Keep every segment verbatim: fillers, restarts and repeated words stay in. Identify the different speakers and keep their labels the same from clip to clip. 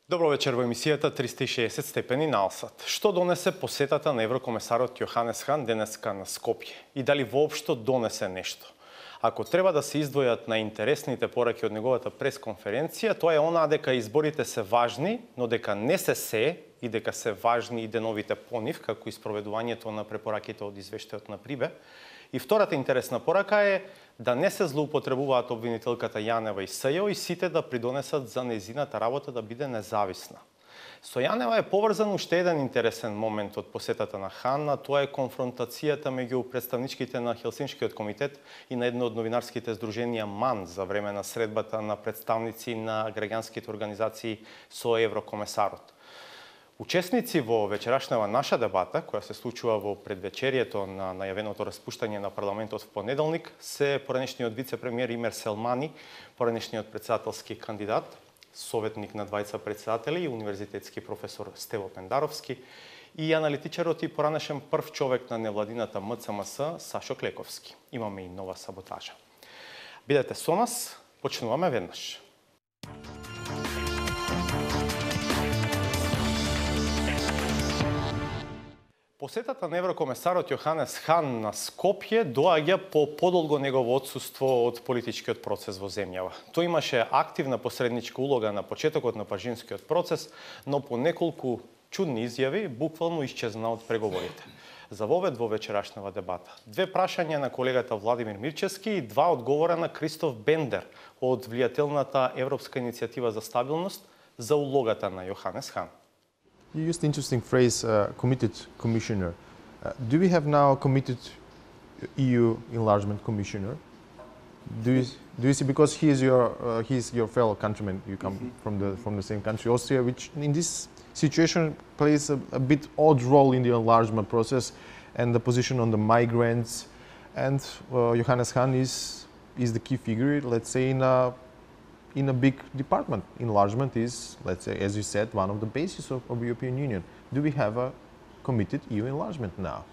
Speaker 1: Добро вечер во емисијата триста и шеесет степени на Алсат. Што донесе посетата на еврокомесарот Јоханес Хан денеска на Скопје? И дали воопшто донесе нешто? Ако треба да се издвојат најинтересните пораки од неговата пресконференција, тоа е онаа дека изборите се важни, но дека не се се и дека се важни и деновите по нив, како и спроведувањето на препораките од извештајот на Прибе. И втората интересна порака е да не се злоупотребуваат обвинителката Јанева и СЈО и сите да придонесат за нејзината работа да биде независна. Со Јанева е поврзан уште еден интересен момент од посетата на Хан, а тоа е конфронтацијата меѓу представничките на Хелсиншкиот комитет и на едно од новинарските здруженија МАН за време на средбата на представници на граѓанските организации со еврокомесарот. Учесници во вечерашнава наша дебата, која се случува во предвечерието на најавеното распуштање на парламентот в понеделник, се поранешниот вице-премиер Имер Селмани, поранешниот председателски кандидат, советник на двајца председатели и универзитетски професор Стево Пендаровски и аналитичарот и поранешен прв човек на невладината М Ц М С Сашо Клековски. Имаме и нова саботажа. Бидете со нас, почнуваме веднаш. Посетата на еврокомесарот Јоханес Хан на Скопје доаѓа по подолго негово отсуство од политичкиот процес во земјава. Тој имаше активна посредничка улога на почетокот на пажинскиот процес, но по неколку чудни изјави буквално исчезна од преговорите. За вовед во вечерашнава дебата две прашања на колегата Владимир Мирчевски и два одговора на Кристоф Бендер од влијателната Европска иницијатива за стабилност за улогата на Јоханес Хан.
Speaker 2: You used the interesting phrase, uh, committed commissioner. Uh, do we have now a committed E U enlargement commissioner? Do you, do you see, because he is your, uh, he is your fellow countryman, you come mm-hmm. from, the, from the same country, Austria, which in this situation plays a, a bit odd role in the enlargement process and the position on the migrants. And uh, Johannes Hahn is, is the key figure, let's say, in a in a big department. Enlargement is, let's say, as you said, one of the bases of, of the European Union. Do we have a committed E U enlargement now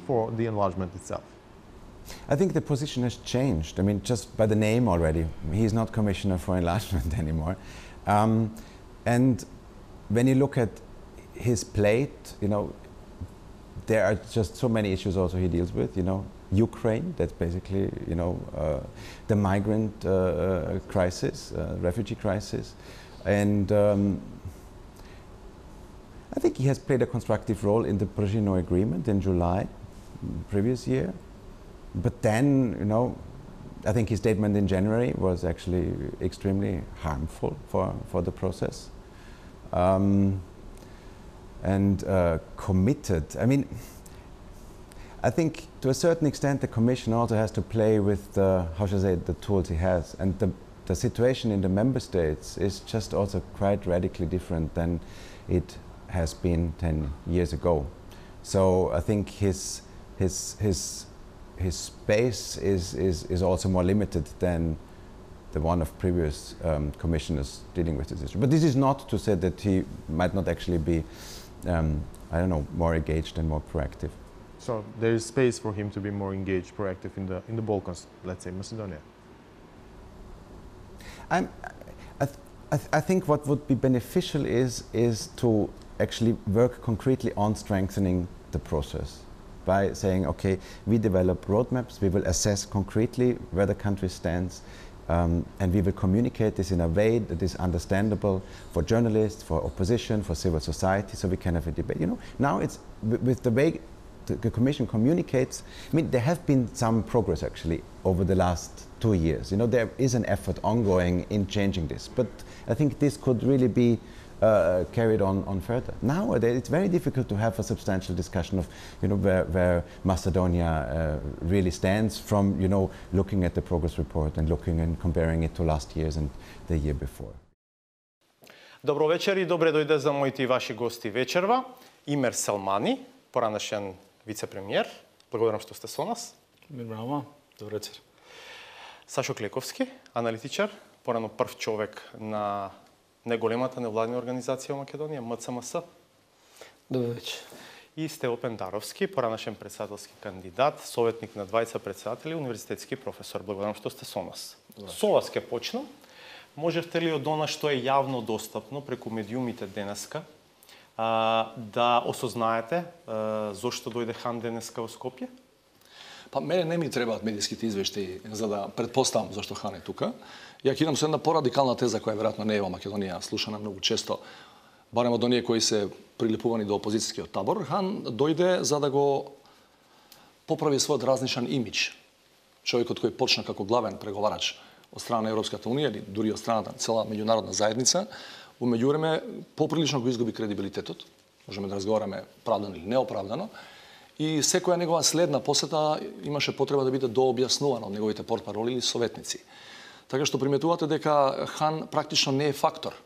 Speaker 2: for the enlargement itself?
Speaker 3: I think the position has changed. I mean, just by the name already, he's not Commissioner for Enlargement anymore. Um, and when you look at his plate, you know, there are just so many issues also he deals with, you know, Ukraine, that's basically, you know, uh, the migrant uh, uh, crisis, uh, refugee crisis. And um, I think he has played a constructive role in the Brzezinski agreement in July previous year. But then, you know, I think his statement in January was actually extremely harmful for, for the process. Um, and uh, committed, I mean, I think to a certain extent the Commission also has to play with the, how should I say, the tools he has. And the, the situation in the Member States is just also quite radically different than it has been ten years ago. So I think his, his, his, his space is, is, is also more limited than the one of previous um, commissioners dealing with this issue. But this is not to say that he might not actually be, um, I don't know, more engaged and more proactive.
Speaker 2: So there is space for him to be more engaged, proactive in the in the Balkans, let's say Macedonia.
Speaker 3: I'm, I, th I, th I think what would be beneficial is is to actually work concretely on strengthening the process by saying, okay, we develop roadmaps, we will assess concretely where the country stands, um, and we will communicate this in a way that is understandable for journalists, for opposition, for civil society, so we can have a debate. You know, now it's with the way the Commission communicates. I mean, there have been some progress actually over the last two years. You know, there is an effort ongoing in changing this, but I think this could really be uh, carried on, on further. Nowadays, it's very difficult to have a substantial discussion of, you know, where, where Macedonia uh, really stands from, you know, looking at the progress report and looking and comparing it to last year's and the year before.
Speaker 1: Добро вечер и добре дојде за моите и ваши гости вечерва. Имер Селмани, поранешен вице-премиер. Благодарам што сте со нас.
Speaker 4: Браво, добро вечер.
Speaker 1: Сашо Клековски, аналитичар, порано прв човек на неголемата невладина организација во Македонија, М Ц М С.
Speaker 4: Добро вечер.
Speaker 1: И Стево Пендаровски, поранешен председателски кандидат, советник на двајца председатели, универзитетски професор. Благодарам што сте со нас. Со вас ќе почнам. можевте ли од она што е јавно достапно преку медиумите денеска а, да осознаете а, зошто дојде хан денеска во Скопје?
Speaker 5: Па мене не ми требаат медијските извештаи за да предпоставам зашто хан е тука. Ја кидам со една порадикална теза која веројатно не е во Македонија слушана многу често, барем од оние кои се прилипувани до опозицијскиот табор. Хан дојде за да го поправи својот разнишан имидж. Човекот кој почна како главен преговарач од страна на Европската унија или дури од страна на цела меѓународна заедница, во меѓувреме поприлично го изгуби кредибилитетот. Можеме да разговараме правдано или неоправдано. И секоја негова следна посета имаше потреба да биде дообјаснувана од неговите портпароли или советници. Така што приметувате дека хан практично не е фактор.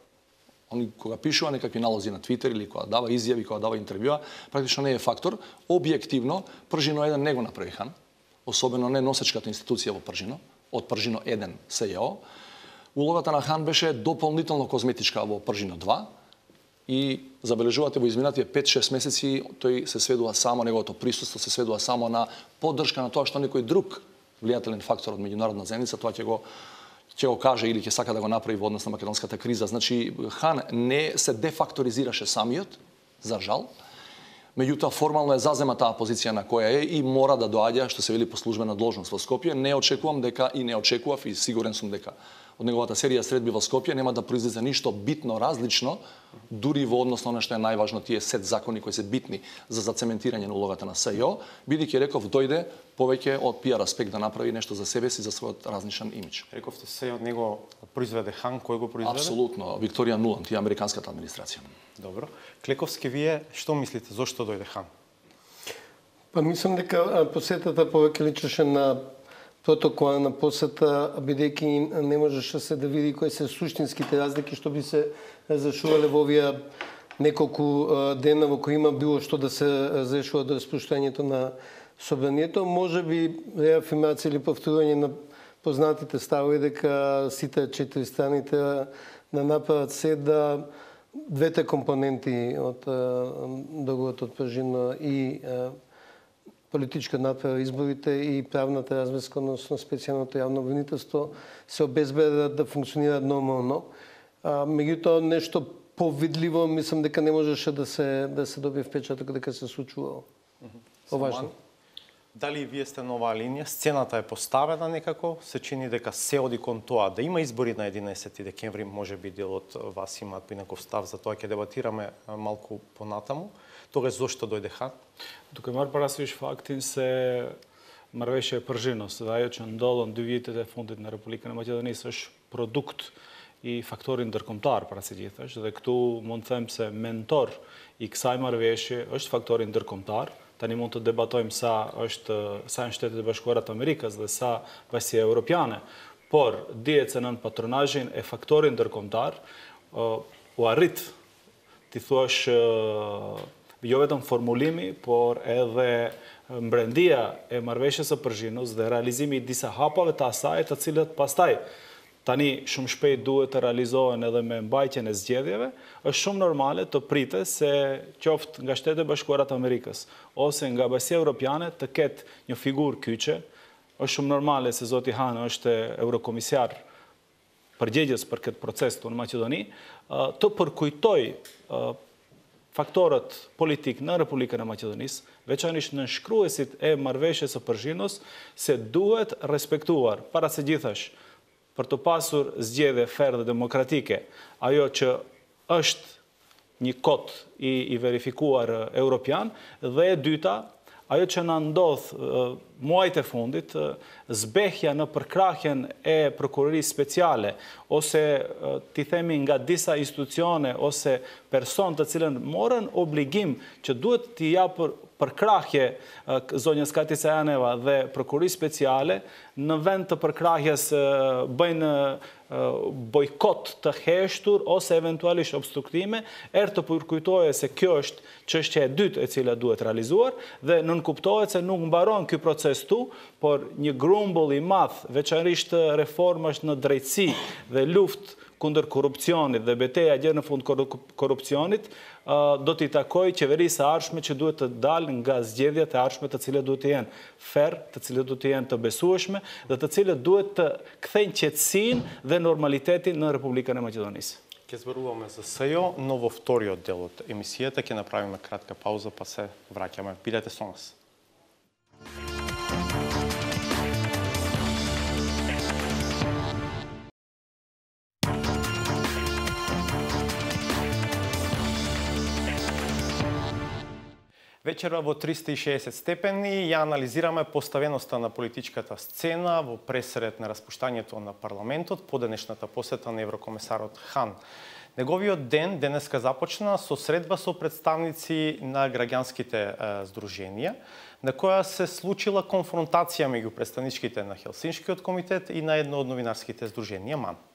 Speaker 5: Он кога пишува некакви налози на Твитер или кога дава изјави, кога дава интервјуа, практично не е фактор. Објективно, Пржино еден не го направи хан, особено не носечката институција во Пржино, од Пржино еден СЈО. Улогата на хан беше дополнително козметичка во Пржино два и забележувате во изминатите пет-шест месеци тој се сведува само, неговото присуство се сведува само на поддршка на тоа што некој друг влијателен фактор од меѓународна заедница, тоа ќе го ќе го каже или ќе сака да го направи во однос на македонската криза. Значи, хан не се дефакторизираше самиот, за жал, меѓутоа формално е зазема таа позиција на која е и мора да доаѓа, што се вели, по службена должност во Скопје. Не очекувам дека и не очекував и сигурен сум дека од неговата серија средби во Скопје нема да произлезе ништо битно различно, дури во однос на она што е најважно, тие сет закони кои се битни за зацементирање на улогата на СЈО, бидејќи реков дојде повеќе од пиар аспект да направи нешто за себе си, за својот разнишан имидж.
Speaker 1: Рековте се од него произведе хан, кој го произведе?
Speaker 5: Апсолутно, Викторија Нуланд и американската администрација.
Speaker 1: Добро. Клековски, вие што мислите, зошто дојде хан?
Speaker 6: Па мислам дека посетата повеќе личеше на протокола на посета, бидејќи не можеше се да види кои се суштинските разлики што би се разрешувале во овие неколку дена во кои има било што да се разрешува до распуштањето на собранието. Може би реафирмација или повторување на познатите ставови дека сите четири страните да направат се да двете компоненти од договорот од Пржино и политичка направа изборите и правната разврска, односно специјалното јавно обвинителство, се обезбедат да функционираат нормално. Меѓутоа, нешто повидливо, мислам дека не можеше да се да се добие впечаток дека се случувало. Поважно.
Speaker 1: Дали вие сте на оваа линија? Сцената е поставена некако, се чини дека се оди кон тоа да има избори на единаесети декември, може би дел од вас имаат поинаков став, за тоа ќе дебатираме малку понатаму. Тогаш зошто дојде хан?
Speaker 4: Тука мар парасвиш фактин се Марвеше Пржино, седајќи ndodhen dy vjetet e fundit në Republikën e Maqedonisë është produkt i faktorit ndërkombëtar para së gjithësh, dhe këtu mund të them se mentor i kësaj marrëveshje është faktori ndërkombëtar. Tani mund të debatojmë sa është sa në Shtetet e Bashkuara të Amerikës dhe sa bashkia evropiane, por dihet se nën patronazhin e faktorit ndërkombëtar u arrit ti thuash jo vetëm formulimi, por edhe mbrendia e marrëveshjes së Pržinos dhe realizimi i disa hapave të asaj, të cilët pastaj tani shumë shpejt duhet të realizohen edhe me mbajtjen e zgjedhjeve, është shumë normale të pritet se qoftë nga Shtetet e Bashkuara të Amerikës ose nga Bashkia Evropiane të ketë një figurë kyçe. Është shumë normale se zoti Han është eurokomisar përgjegjës për këtë proces këtu në Maqedoni, të përkujtoj faktorët politik në Republikën e Maqedonisë, veçanërisht në shkruesit e marrëveshjes së Pržinos, se duhet respektuar para së gjithash për të pasur zgjedhje fair dhe demokratike, ajo që është një kod i, i verifikuar europian, dhe e dyta, ajo që na ndodh muajt e fundit, zbehja në përkrahjen e prokurorisë speciale, ose ti themi nga disa institucione ose person të cilën morën obligim që duhet t'i japë përkrahje zonjës Kati Sajaneva dhe prokurorisë speciale, në vend të përkrahjes bëjnë bojkot të heshtur ose eventualisht obstruktime, erë të përkujtoje se kjo është çështja e dytë e cila duhet realizuar dhe nënkuptohet se nuk mbaron ky proces tu, por një grumbull i madh, veçanërisht reformash në drejtësi dhe luftë контркорупционит, да бете агент фонд корупционит, доти такой чевери са аршме, че дуета далин газ дедија, та аршме та целия дуета јен фер, та целия дуета јен та бесуашме, да та целия дуета кθен чецин де нормалитети на Република на Македонија.
Speaker 1: Ке зборуваме за СЈО, но во вториот дел од емисијата ќе направиме кратка пауза, па се враќаме. Бидете со нас. Вечера во триста и шеесет степени ја анализираме поставеноста на политичката сцена во пресред на распуштањето на парламентот по денешната посета на еврокомесарот Хан. Неговиот ден денеска започна со средба со представници на граѓанските здруженија, на која се случила конфронтација меѓу представничките на Хелсиншкиот комитет и на едно од новинарските здруженија МАН.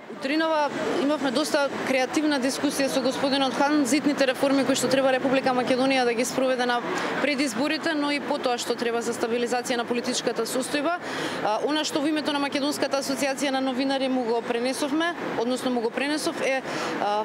Speaker 7: Утринава имавме доста креативна дискусија со господинот Хан за итните реформи кои што треба Република Македонија да ги спроведе на пред изборите, но и потоа што треба за стабилизација на политичката состојба. Она што во името на Македонската асоциација на новинари му го пренесовме, односно му го пренесов е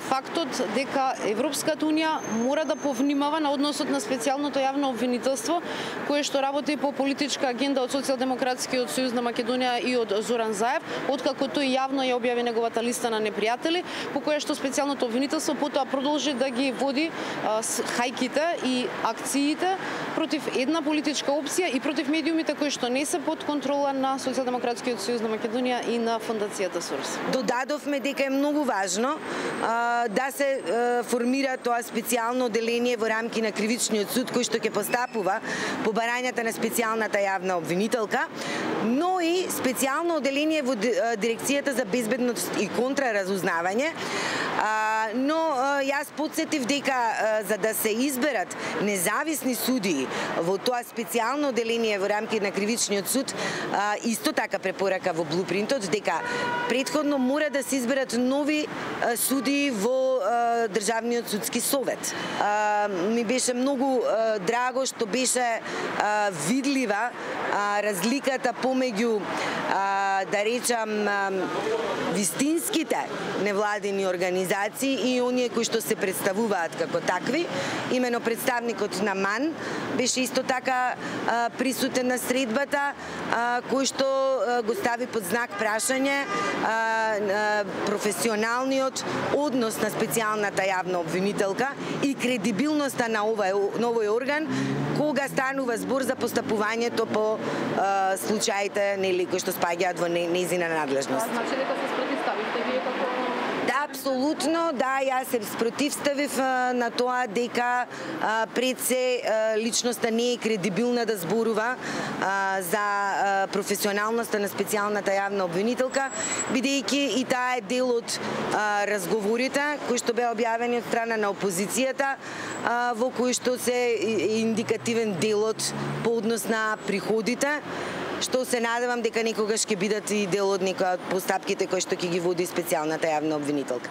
Speaker 7: фактот дека Европската унија мора да повнимава на односот на специјалното јавно обвинителство кое што работи по политичка агенда од Социјалдемократскиот сојуз на Македонија и од Зоран Заев, откако тој јавно ја објави неговата листа на непријатели, по која што специјалното обвинителство потоа продолжи да ги води а, хајките и акциите против една политичка опција и против медиумите кои што не се под контрола на Социјалдемократскиот сојуз на Македонија и на фондацијата Сорос.
Speaker 8: Додадовме дека е многу важно а, да се а, формира тоа специјално оделение во рамки на кривичниот суд кој што ќе постапува по барањата на специјалната јавна обвинителка, но и специјално оделение во дирекцијата за безбедност и контраразузнавање, но јас подсетив дека за да се изберат независни судии во тоа специјално оделение во рамки на кривичниот суд, исто така препорака во блупринтот дека претходно мора да се изберат нови судии во Државниот судски совет. Ми беше многу драго што беше видлива разликата помеѓу, да речам, вистинските невладини организации и оние кои што се представуваат како такви. Имено представникот на МАН беше исто така присутен на средбата, кој што го стави под знак прашање професионалниот однос на специјалната јавна обвинителка и кредибилноста на овој орган кога станува збор за постапувањето по случаите нели кои што спаѓаат во нејзина надлежност.
Speaker 7: Значи дека се спротивставивте вие како...
Speaker 8: Да, апсолутно, да, јас се спротивставив на тоа дека пред се личноста не е кредибилна да зборува за професионалноста на специјалната јавна обвинителка, бидејќи и таа е дел од разговорите кои што беа објавени од страна на опозицијата, во кои што се индикативен делот по однос на приходите, што се надевам дека некогаш ќе бидат и дел од некои од постапките кои што ќе ги води специјалната јавна обвинителка.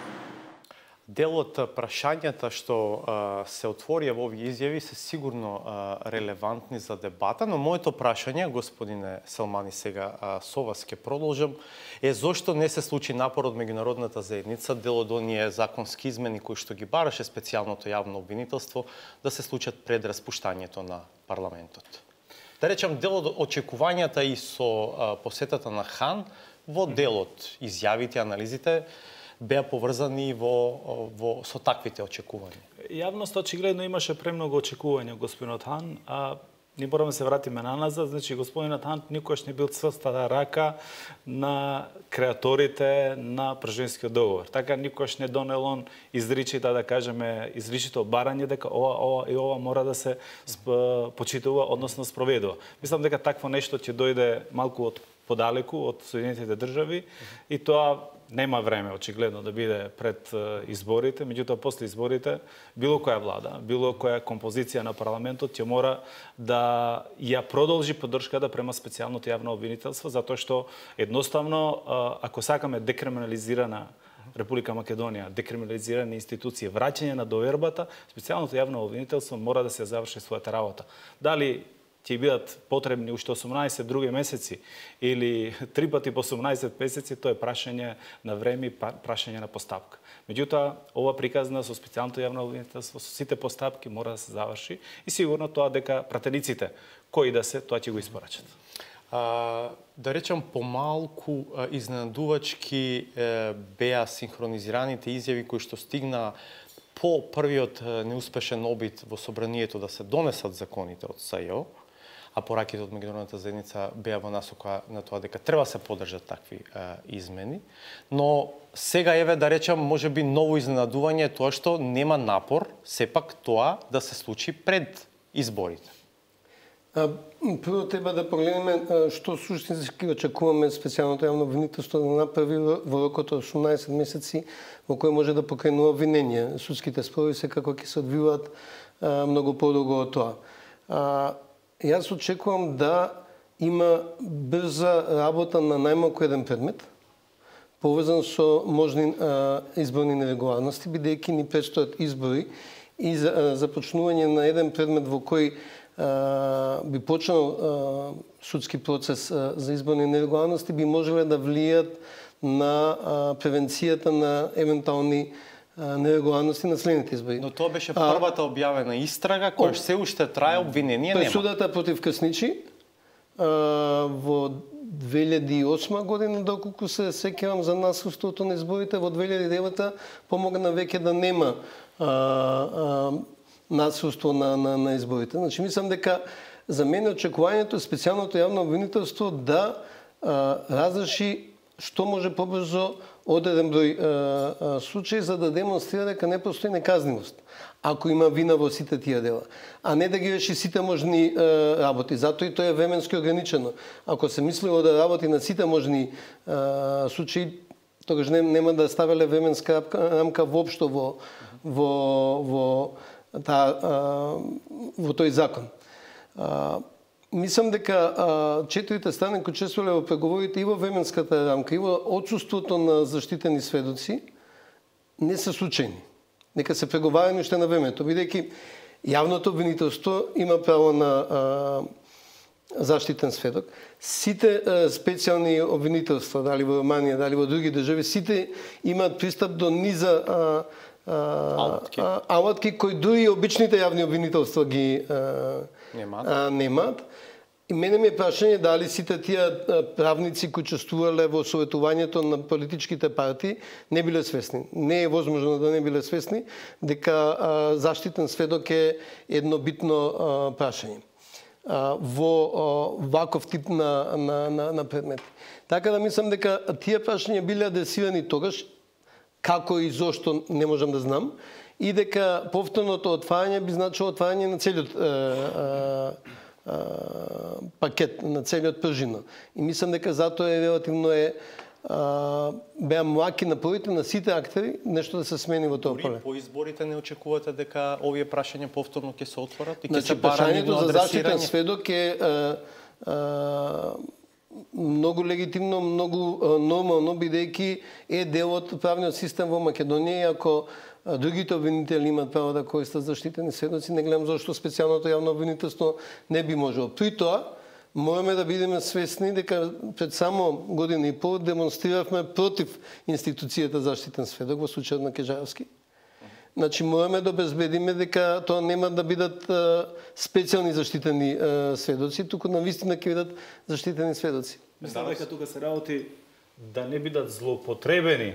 Speaker 1: Дел од прашањата што а, се отворија во овие изјави се сигурно а, релевантни за дебата, но моето прашање, господине Селмани, сега а, со вас ќе продолжам, е зошто не се случи напор од меѓународната заедница, дел од оние законски измени кои што ги бараше специјалното јавно обвинителство да се случат пред распуштањето на парламентот. Да речам, дел од очекувањата и со а, посетата на Хан, во делот изјавите, анализите, беа поврзани во, во, со таквите очекувања.
Speaker 4: Јавноста очигледно имаше премногу очекувања господинот Хан, а не мораме да се вратиме наназад, значи господинот Хан никош не бил цврстата рака на креаторите на Пржинскиот договор. Така никош не донел он изричита, да кажеме, изричито барање дека ова, ова и ова мора да се почитува, односно спроведува. Мислам дека такво нешто ќе дојде малку од подалеку од Соединетите држави и тоа нема време очигледно да биде пред изборите, меѓутоа после изборите било која влада, било која композиција на парламентот ќе мора да ја продолжи поддршката према специјалното јавно обвинителство, затоа што едноставно ако сакаме декриминализирана Република Македонија, декриминализирани институции, враќање на довербата, специјалното јавно обвинителство мора да се заврши својата работа. Дали ќе бидат потребни уште осумнаесет други месеци или три пати по осумнаесет месеци, тоа е прашање на време и прашање на постапка. Меѓутоа, ова приказна со специјалното јавно обвинителство, со сите постапки мора да се заврши и сигурно тоа дека пратениците кои да се, тоа ќе го испорачат.
Speaker 1: А, да речам, помалку а, изненадувачки е, беа синхронизираните изјави кои што стигна по првиот е, неуспешен обид во собранието да се донесат законите од СЈО, а пораките од меѓународната заедница беа во насока на тоа дека треба се поддржат такви е, измени. Но сега еве да речам, можеби ново изненадување е тоа што нема напор сепак тоа да се случи пред изборите.
Speaker 6: А, прво треба да погледнеме што суштински очекуваме специјалното јавно обвинителство да направи во рокот од осумнаесет месеци во кој може да покренува обвинение. Судските спорови секако ќе се одвиваат а, многу подолго од тоа. А, јас очекувам да има брза работа на најмалку еден предмет, поврзан со можни а, изборни нерегуларности, бидејќи ни предстојат избори и за, а, започнување на еден предмет во кој би почнал судски процес за изборни нерегуларности, би можеле да влијат на превенцијата на евентуални нерегуларности на следните избори.
Speaker 1: Но тоа беше првата објавена истрага, која се уште трае, обвинение нема.
Speaker 6: Пресудата против Крсничи во две илјади и осма година, доколку се сеќавам за насилството на изборите, во две илјади и девета помогна веќе да нема а, а, насилство на, на, на изборите. Значи, мислам дека за мене очекувањето е специјалното јавно обвинителство да а, разреши што може побрзо одреден број а, а, случаи за да демонстрира дека не постои неказнивост, ако има вина во сите тие дела, а не да ги реши сите можни а, работи. Затоа и тоа е временски ограничено. Ако се мислило да работи на сите можни а, случаи, тогаш нема да ставеле временска рамка воопшто во во во Та, а, во тој закон. А, мислам дека а, четирите страни кои учествувале во преговорите и во временската рамка и во отсуството на заштитени сведоци не се случајни. Нека се преговарани уште на времето, бидејќи јавното обвинителство има право на а, заштитен сведок. Сите а, специјални обвинителства, дали во Романија, дали во други држави, сите имаат пристап до низа а, алатки. алатки кои дури обичните јавни обвинителства ги а, немаат. немаат. И мене ми е прашање дали сите тие правници кои учествувале во советувањето на политичките партии не биле свесни. Не е возможно да не биле свесни дека а, заштитен сведок е едно битно а, прашање а, во а, ваков тип на, на, на, на предмети. Така да мислам дека тие прашања биле адресирани тогаш, како и зошто не можам да знам, и дека повторното отварање би значило отварање на целиот е, е, е, пакет, на целиот пржино. И мислам дека затоа е релативно е беа млаки напорите на сите актери нешто да се смени во тоа поле.
Speaker 1: Дори по изборите не очекувате дека овие прашања повторно ќе се отворат и ќе
Speaker 6: значи,
Speaker 1: се бара нивно
Speaker 6: адресирање? За заштитен сведок е, е, е многу легитимно, многу нормално, бидејќи е дел од правниот систем во Македонија и ако другите обвинители имаат право да користат заштитени сведоци, не гледам зашто специјалното јавно обвинителство не би можело. При тоа, мораме да бидеме свесни дека пред само година и пол демонстриравме против институцијата заштитен сведок во случајот на Кежаровски. Значи, мораме да обезбедиме дека тоа нема да бидат а, специјални заштитени а, сведоци, туку навистина ќе бидат заштитени сведоци.
Speaker 4: Мислам дека тука се работи да не бидат злоупотребени,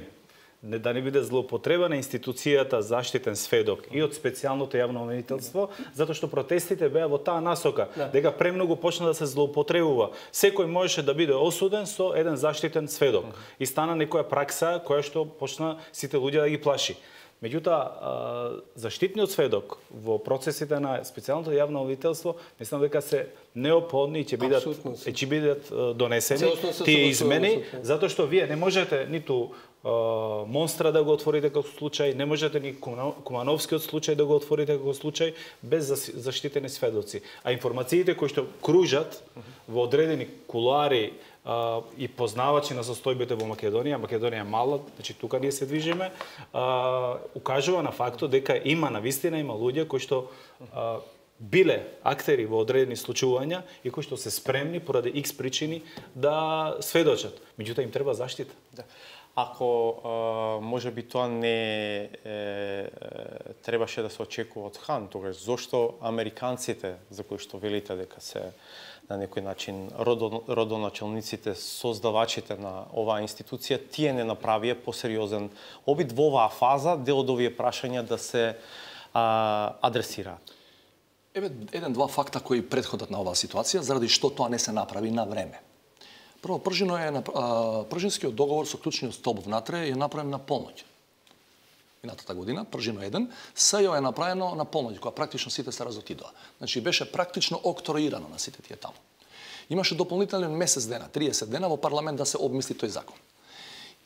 Speaker 4: не да не биде злоупотребена институцијата заштитен сведок и од специјалното јавно обвинителство, затоа што протестите беа во таа насока, да. дека премногу почна да се злоупотребува. Секој можеше да биде осуден со еден заштитен сведок. И стана некоја пракса која што почна сите луѓе да ги плаши. Меѓутоа, заштитниот сведок во процесите на специјалното јавно обвинителство, мислам дека се неопходни и ќе бидат ќе бидат донесени тие измени, затоа што вие не можете ниту Монстра да го отворите како случај, не можете ни Кумановскиот случај да го отворите како случај без заштитени сведоци. А информациите кои што кружат во одредени кулуари Uh, и познавачи на состојбите во Македонија, Македонија е мала, значи тука ние се движиме, uh, укажува на фактот дека има навистина има луѓе кои што uh, биле актери во одредени случувања и кои што се спремни поради X причини да сведочат. Меѓутоа им треба заштита.
Speaker 1: Да. Ако а, може би тоа не е, е, требаше да се очекува од Хан, тогаш зошто американците, за кои што велите дека се на некој начин родо, родоначалниците, создавачите на оваа институција, тие не направија посериозен обид во оваа фаза дел од овие прашања да се а, адресираат?
Speaker 5: Еве еден-два факта кои претходат на оваа ситуација, заради што тоа не се направи на време. Прво, Пржино е, Пржинскиот договор со клучниот столб внатре е направен на полноќ. Минатата година, Пржино еден, СЈО е направено на полноќ, која практично сите се разотидоа. Значи, беше практично октроирано на сите тие таму. Имаше дополнителен месец дена, триесет дена во парламент да се обмисли тој закон.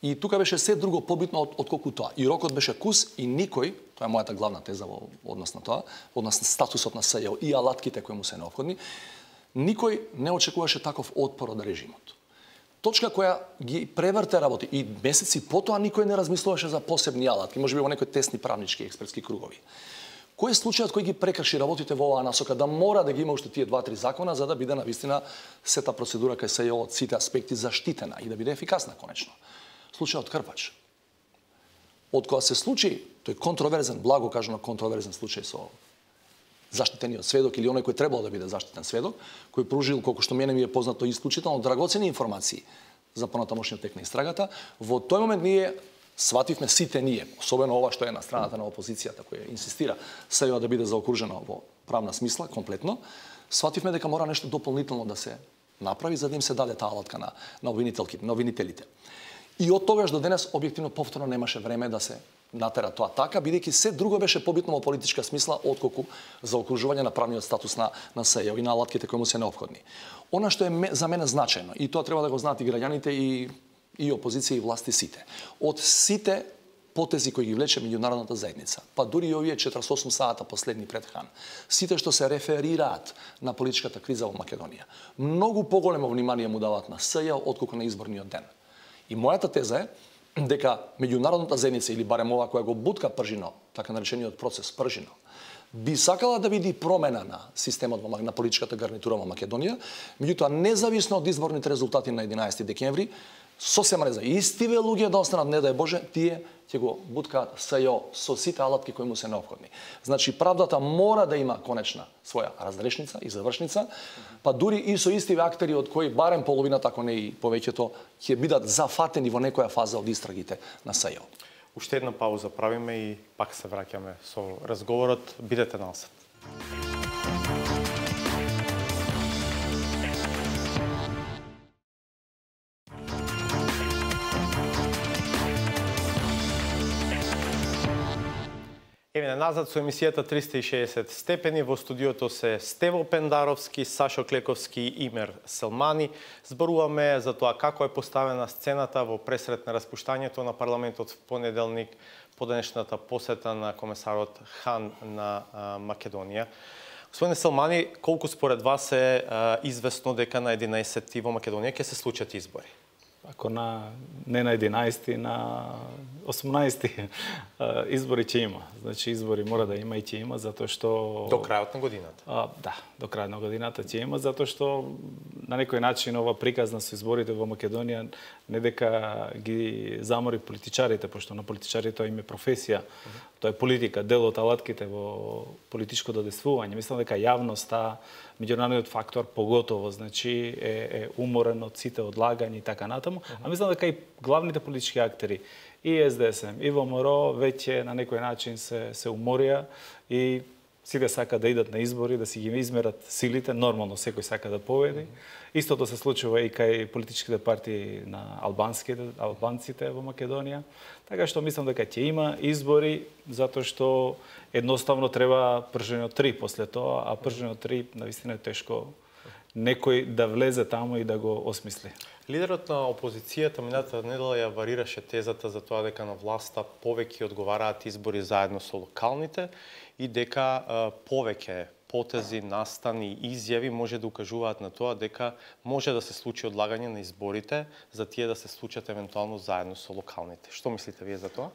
Speaker 5: И тука беше се друго побитно од, отколку тоа. И рокот беше кус и никој, тоа е мојата главна теза во однос на тоа, однос на статусот на СЈО и алатките кои му се необходни, никој не очекуваше таков отпор од режимот. Точка која ги преврте работи и месеци потоа никој не размислуваше за посебни алатки, можеби во некои тесни правнички експертски кругови. Кој е случајот кој ги прекрши работите во оваа насока да мора да ги има уште тие два-три закона за да биде навистина сета процедура кај СЈО од сите аспекти заштитена и да биде ефикасна конечно? Случајот Крпач. Од кога се случи тој контроверзен, благо кажано контроверзен случај со заштитениот сведок или оној кој требало да биде заштитен сведок, кој пружил, колку што мене ми е познато, исклучително драгоцени информации за понатамошниот тек на истрагата, во тој момент ние свативме сите ние, особено ова што е на страната на опозицијата, која инсистира СЈО да биде заокружено во правна смисла, комплетно, свативме дека мора нешто дополнително да се направи за да им се даде таа алатка на, на обвинителите, на обвинителите. И од тогаш до денес објективно повторно немаше време да се натера тоа така, бидејќи се друго беше побитно во политичка смисла отколку за окружување на правниот статус на на СЈО и на алатките кои му се необходни. Она што е за мене значајно и тоа треба да го знаат и граѓаните и и опозиција и власти сите. Од сите потези кои ги влече меѓународната заедница, па дури и овие четиридесет и осум сата последни пред Хан, сите што се реферираат на политичката криза во Македонија, многу поголемо внимание му даваат на СЈО отколку на изборниот ден. И мојата теза е дека меѓународната заедница или барем ова која го бутка Пржино, така наречениот процес Пржино, би сакала да види промена на системот на политичката гарнитура во Македонија, меѓутоа независно од изборните резултати на единаесети декември, сосема реза истиве луѓе да останат, не дај Боже, тие ќе го буткаат СЈО со сите алатки кои му се необходни. Значи правдата мора да има конечна своја разрешница и завршница, па дури и со истиве актери од кои барем половината, ако не и повеќето, ќе бидат зафатени во некоја фаза од истрагите на СЈО.
Speaker 1: Уште една пауза правиме и пак се враќаме со разговорот. Бидете насад. Еве назад со емисијата триста и шеесет степени. Во студиото се Стево Пендаровски, Сашо Клековски и Имер Селмани. Зборуваме за тоа како е поставена сцената во пресред на распуштањето на парламентот в понеделник по денешната посета на комесарот Хан на а, Македонија. Господине Селмани, колку според вас е а, известно дека на единаесети во Македонија ќе се случат избори?
Speaker 4: Ако на не на единаесети, на осумнаесети избори ќе има. Значи избори мора да има и ќе има затоа што
Speaker 1: До крајот на годината.
Speaker 4: А, да, до крајот на годината ќе има затоа што на некој начин ова приказна со изборите во Македонија не дека ги замори политичарите, пошто на политичарите тоа им е професија, тоа е политика, дел од алатките во политичко додействување. Мислам дека јавноста, меѓународниот фактор поготово, значи е, е уморен од сите одлагања и така натаму, а мислам дека и главните политички актери и Ес Де Ес Ем и ВМРО веќе на некој начин се се уморија и сите сака да идат на избори, да си ги измерат силите, нормално секој сака да победи. Истото се случува и кај политичките партии на албанските, албанците во Македонија. Така што мислам дека ќе има избори, затоа што едноставно треба Пржино три после тоа, а Пржино три навистина е тешко некој да влезе таму и да го осмисли.
Speaker 1: Лидерот на опозицијата минатата недела ја варираше тезата за тоа дека на власта повеќе одговараат избори заедно со локалните и дека а, повеќе потези, настани и изјави може да укажуваат на тоа дека може да се случи одлагање на изборите за тие да се случат евентуално заедно со локалните. Што мислите вие за тоа?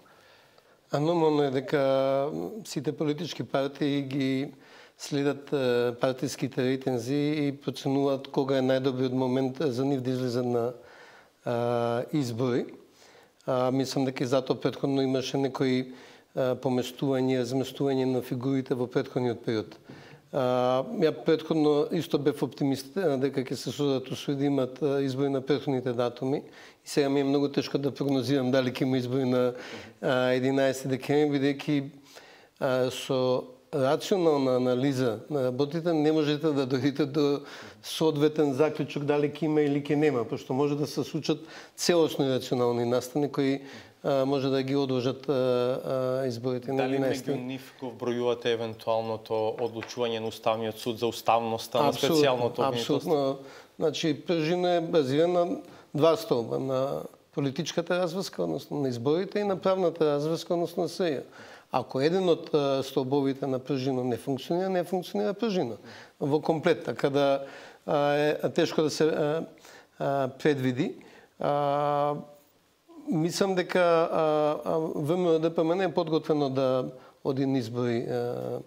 Speaker 6: А нормално е дека сите политички партии ги следат партиските рейтинзи и проценуваат кога е најдобриот момент за нив да излезат на а, избори. А, мислам дека и затоа претходно имаше некои а, поместување, разместување на фигурите во претходниот период. А, ја претходно исто бев оптимист дека ќе се создадат услови да имат избори на претходните датуми. И сега ми е многу тешко да прогнозирам дали ќе има избори на единаесети декември, бидејќи со рационална анализа на работите не можете да дојдете до соодветен заклучок дали ќе има или ќе нема, пошто може да се случат целосни рационални настани кои а, може да ги одложат а, а, изборите на единаесети.
Speaker 1: Дали меѓу нив го вбројувате евентуалното одлучување на Уставниот суд за уставноста на специјалното обвинителство?
Speaker 6: Апсолутно. Значи, Пржино е базиран на два столба, на политичката разврска, односно на изборите, и на правната разврска, односно на СЈ. Ако еден од столбовите на Пржино не функционира, не функционира Пржино во комплет, така да е тешко да се а, а, предвиди. А, мислам дека ВМРО-ДПМН е подготвено да оди на избори а,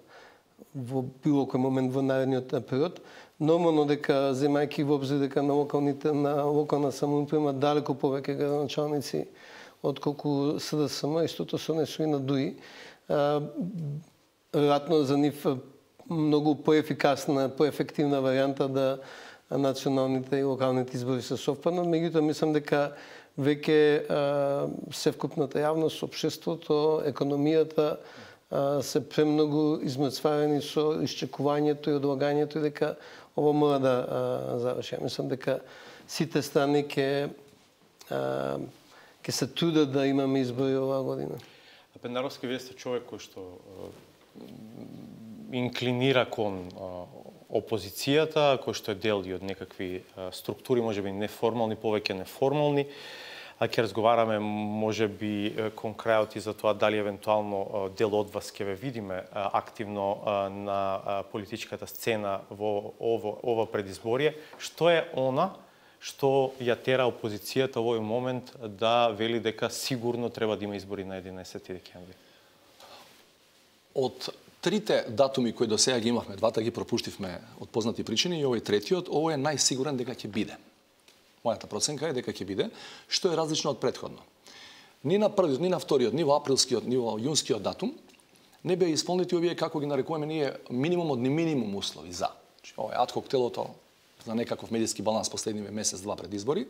Speaker 6: во било кој момент во наредниот период. Нормално дека, земајќи во обзир дека на локалните на локална самоуправа има далеку повеќе градоначалници отколку СДСМ, истото се однесува и на ДУИ. Веројатно за нив многу поефикасна, поефективна варијанта да националните и локалните избори се совпаднат. Меѓутоа, мислам дека веќе севкупната јавност, општеството, економијата се премногу измрцварени со исчекувањето и одлагањето и дека ово мора да заврши. Мислам дека сите страни ќе ќе се трудат да имаме избори оваа година.
Speaker 1: Пендаровски, вие сте човек кој што инклинира кон опозицијата, кој што е дел и од некакви структури, можеби неформални, повеќе неформални. А ќе разговараме можеби кон крајот и за тоа дали евентуално дел од вас ќе ве видиме активно на политичката сцена во ово, ова предизборие. Што е она што ја тера опозицијата во овој момент да вели дека сигурно треба да има избори на единаесети декември?
Speaker 5: Од трите датуми кои до сега ги имавме, двата ги пропуштивме од познати причини и овој третиот, овој е најсигурен дека ќе биде. Мојата проценка е дека ќе биде, што е различно од претходно. Ни на првиот, ни на вториот, ни во априлскиот, ни во јунскиот датум не беа исполнети овие, како ги нарекуваме ние, минимум од минимум услови за. Ова е адхок телото за некаков медиски баланс последниве месец-два пред избори.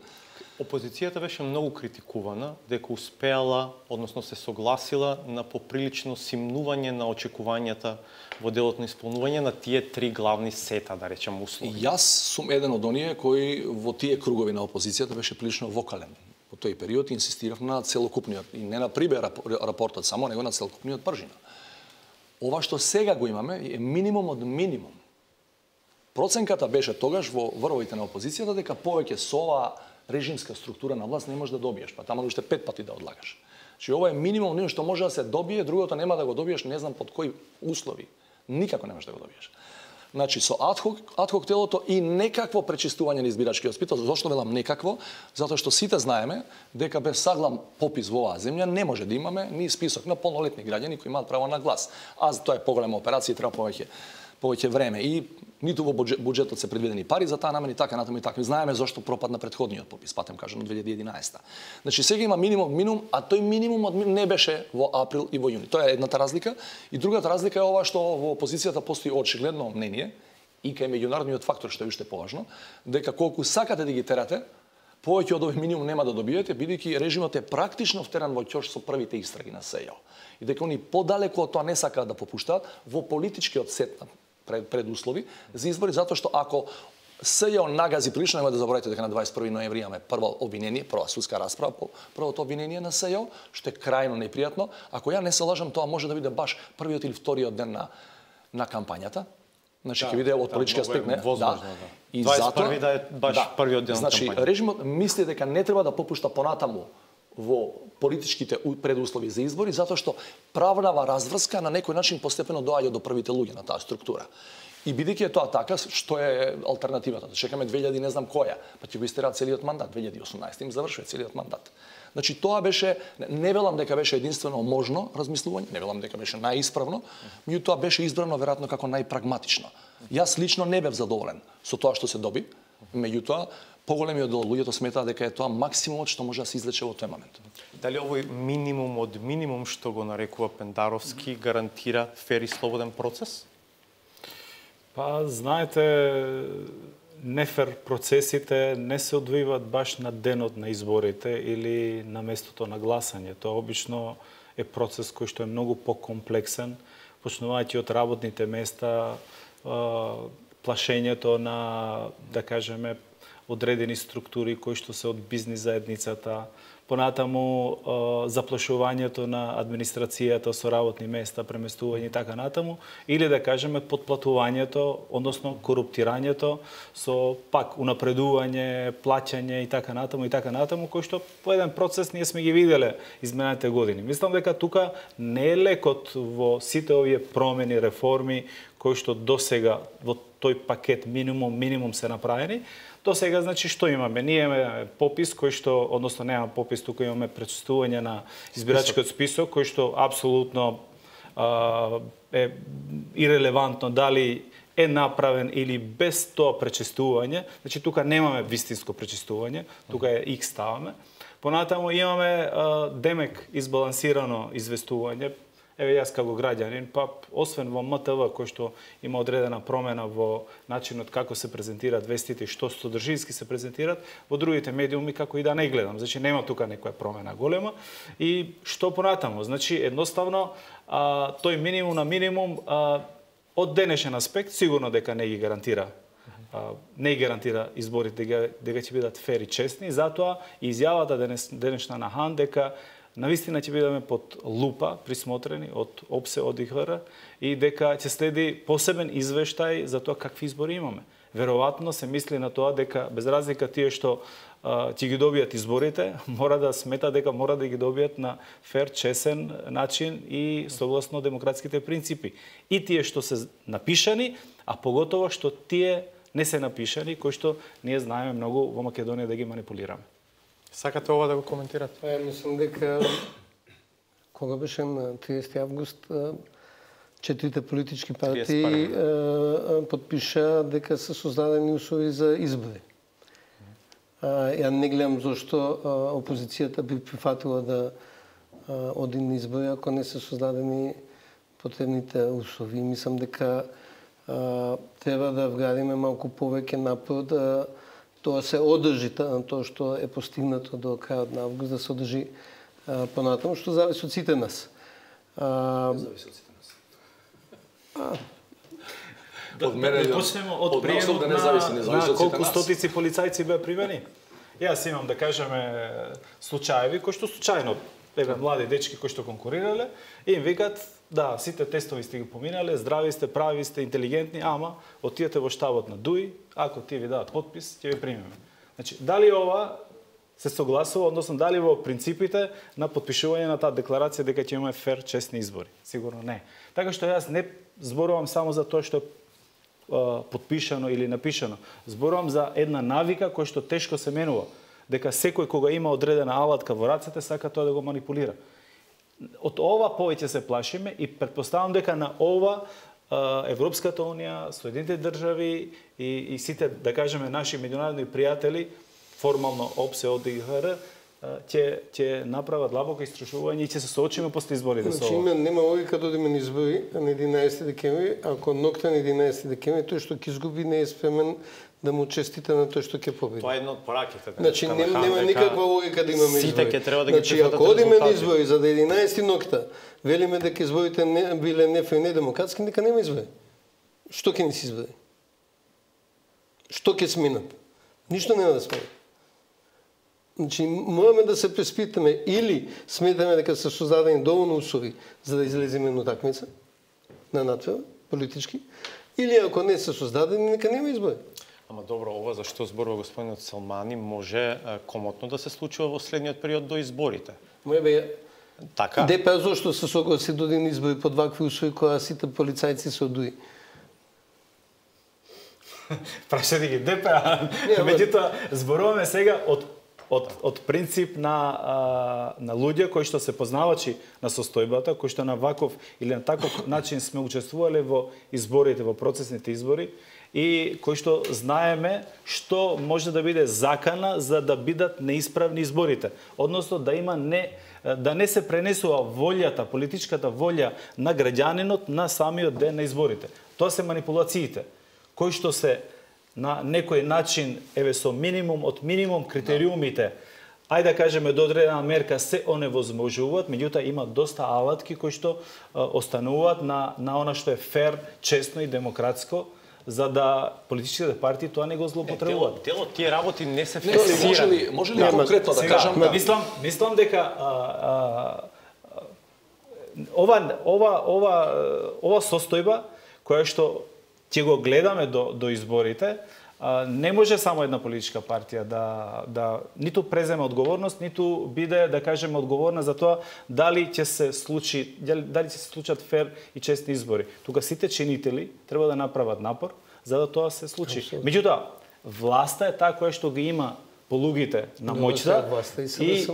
Speaker 1: Опозицијата беше многу критикувана дека успеала, односно се согласила на поприлично симнување на очекувањата во делот на исполнување на тие три главни сета, да речем, услови.
Speaker 5: Јас сум еден од оние кои во тие кругови на опозицијата беше прилично вокален. Во тој период инсистирав на целокупниот, и не на прибе рапортот само, него на целокупниот Пржина. Ова што сега го имаме е минимум од минимум. Проценката беше тогаш во врвовите на опозицијата дека повеќе со оваа режимска структура на власт не можеш да добиеш, па таму уште пет пати да одлагаш. Значи ова е минимум нешто што може да се добие, другото нема да го добиеш, не знам под кои услови. Никако не можеш да го добиеш. Значи со адхок, адхок телото и некакво пречистување на избирачкиот список. Зошто велам некакво? Затоа што сите знаеме дека без саглам попис во оваа земја не може да имаме ни список на полнолетни граѓани кои имаат право на глас. А за тоа е поголема операција и треба повеќе повеќе време и ниту во буџетот се предвидени пари за таа намена и така натаму и така. Знаеме зошто пропадна претходниот попис, патем кажано две илјади и единаесета. Значи сега има минимум минимум, а тој минимум од не беше во април и во јуни. Тоа е едната разлика и другата разлика е ова што во опозицијата постои очигледно мнение и кај меѓународниот фактор што е уште поважно, дека колку сакате да ги терате, повеќе од овој минимум нема да добиете, бидејќи режимот е практично втеран во ќош со првите истраги на СЈО. И дека они подалеку од тоа не сакаат да попуштаат во политичкиот сет пред, предуслови за избори, затоа што ако СЈО нагази прилично, нема да заборавате дека на дваесет и први ноември имаме прво обвинение, прва судска расправа по првото обвинение на СЈО, што е крајно непријатно. Ако ја не се лажам, тоа може да биде баш првиот или вториот ден на на кампањата. Значи ќе да, биде од политички аспект, не?
Speaker 1: Возможно, да.
Speaker 5: да. И
Speaker 1: дваесет и први да е баш
Speaker 5: да,
Speaker 1: првиот ден
Speaker 5: значи,
Speaker 1: на кампањата.
Speaker 5: Значи режимот мисли дека не треба да попушта понатаму во политичките предуслови за избори, затоа што правнава разврска на некој начин постепено доаѓа до првите луѓе на таа структура. И бидејќи е тоа така, што е алтернативата? Да чекаме две илјади не знам која, па ќе го истерат целиот мандат, две илјади и осумнаесета им завршува целиот мандат. Значи тоа беше, не велам дека беше единствено можно размислување, не велам дека беше најисправно, меѓутоа беше избрано веројатно како најпрагматично. Јас лично не бев задоволен со тоа што се доби, меѓутоа поголемиот дел луѓето сметаа дека е тоа максимумот што може да се извлече во тој момент.
Speaker 1: Дали овој минимум од минимум што го нарекува Пендаровски гарантира фер и слободен процес?
Speaker 4: Па, знаете, нефер процесите не се одвиваат баш на денот на изборите или на местото на гласање. Тоа обично е процес кој што е многу покомплексен, почнувајќи од работните места, плашењето на, да кажеме, одредени структури кои што се од бизнис заедницата, понатаму заплашувањето на администрацијата со работни места, преместување и така натаму, или да кажеме подплатувањето, односно коруптирањето со пак унапредување, плаќање и така натаму и така натаму, кој што по еден процес ние сме ги виделе изминатите години. Мислам дека тука не е лекот во сите овие промени, реформи кои што досега во тој пакет минимум минимум се направени. До сега, значи, што имаме? Ние имаме попис кој што, односно немаме попис, тука имаме пречистување на избирачкиот список, кој што апсолутно а, е ирелевантно дали е направен или без тоа пречистување. Значи, тука немаме вистинско пречистување, тука е X ставаме. Понатаму имаме а, демек избалансирано известување. Еве јас како граѓанин, па освен во М Т В кој што има одредена промена во начинот како се презентираат вестите и што содржински се презентираат, во другите медиуми како и да не гледам. Значи нема тука некоја промена голема. И што понатаму? Значи едноставно а, тој минимум на минимум а, од денешен аспект сигурно дека не ги гарантира а, не ги гарантира изборите дека, дека ќе бидат фер и честни, затоа и изјавата денес, денешна на Хан дека навистина ќе бидеме под лупа присмотрени од ОПСЕ, од И Х Р и дека ќе следи посебен извештај за тоа какви избори имаме. Веројатно се мисли на тоа дека без разлика тие што а, ќе ги добијат изборите, мора да смета дека мора да ги добијат на фер, чесен начин и согласно демократските принципи. И тие што се напишани, а поготово што тие не се напишани, кои што ние знаеме многу во Македонија да ги манипулираме.
Speaker 1: Сакате ова да го коментирате?
Speaker 6: Па, мислам дека кога беше на триесети август четирите политички партии подпиша дека се создадени услови за избори. Ја не гледам зашто опозицијата би прифатила да оди на избори ако не се создадени потребните услови. Мислам дека треба да вградиме малку повеќе напор да тоа се одржи на тоа што е постигнато до крајот на август, да се одржи понатаму, што зависи од сите нас. А,
Speaker 5: зависи од сите нас.
Speaker 4: Да, да, да почнеме од приемот на, на колку стотици полицајци беа примени. Јас имам, да кажеме, случаеви кои што случајно, еве млади дечки кои што конкурирале, и им викат, да, сите тестови сте ги поминале, здрави сте, прави сте, интелигентни, ама отидете во штабот на ДУИ, ако тие ви дадат подпис, ќе ви примеме. Значи, дали ова се согласува, односно дали во принципите на подпишување на таа декларација дека ќе имаме фер, честни избори? Сигурно не. Така што јас не зборувам само за тоа што е подпишано или напишано. Зборувам за една навика која што тешко се менува. Дека секој кога има одредена алатка во рацете сака тоа да го манипулира. Од ова повеќе се плашиме и претпоставам дека на ова Европската унија, Соединетите држави и, и сите, да кажеме, наши меѓународни пријатели, формално ОПСЕ, од И Х Р, ќе ќе направат длабоко истражување и ќе се соочиме после изборите со
Speaker 6: ова. Значи, има, нема логика да одиме на избори на единаесети декември, ако ноќта на единаесети декември тој што ќе изгуби не е спремен да му честита на тој што ќе победи.
Speaker 1: Тоа е едно од пораките.
Speaker 6: Значи нема, нема никаква логика да имаме избори.
Speaker 1: Сите ќе треба да ги
Speaker 6: значи, ако одиме на избори за да единаесети ноќта, велиме дека изборите не биле нефер и недемократски, нека нема избори. Што ќе ни се избори? Што ќе сменат? Ништо нема да сменат. Значи, мораме да се преспитаме или сметаме дека се создадени доволно услови за да излеземе на такмица, на надвор, политички, или ако не се создадени, нека нема избори.
Speaker 1: Ама добро, ова за што зборува господинот Салмани може комотно да се случува во следниот период до изборите.
Speaker 6: Моја бе,
Speaker 1: така?
Speaker 6: Депа зошто се согласи до ден избори под вакви услови кога сите полицајци се одуи.
Speaker 4: Прашате ги ДП, меѓутоа зборуваме сега од од од принцип на а, на луѓе кои што се познавачи на состојбата, кои што на ваков или на таков начин сме учествувале во изборите, во процесните избори и кои што знаеме што може да биде закана за да бидат неисправни изборите, односно да има не да не се пренесува волјата, политичката волја на граѓанинот на самиот ден на изборите. Тоа се манипулациите, кои што се на некој начин, еве со минимум од минимум критериумите, ајде да кажеме до одредена мерка се оневозможуваат, меѓутоа има доста алатки кои што а, остануваат на на она што е фер, честно и демократско, за да политичките партии тоа не го злоупотребуваат.
Speaker 1: Дело тие работи не се
Speaker 5: Не, може ли, може ли конкретно да кажам?
Speaker 4: Да. Мислам, мислам дека а, а, ова ова ова ова состојба која што ќе го гледаме до до изборите, а, не може само една политичка партија да да ниту преземе одговорност, ниту биде да кажеме одговорна за тоа дали ќе се случи дали ќе се случат фер и честни избори. Тука сите чинители треба да направат напор за да тоа се случи. Меѓутоа, власта е таа која што ги има полугите на моќта
Speaker 6: и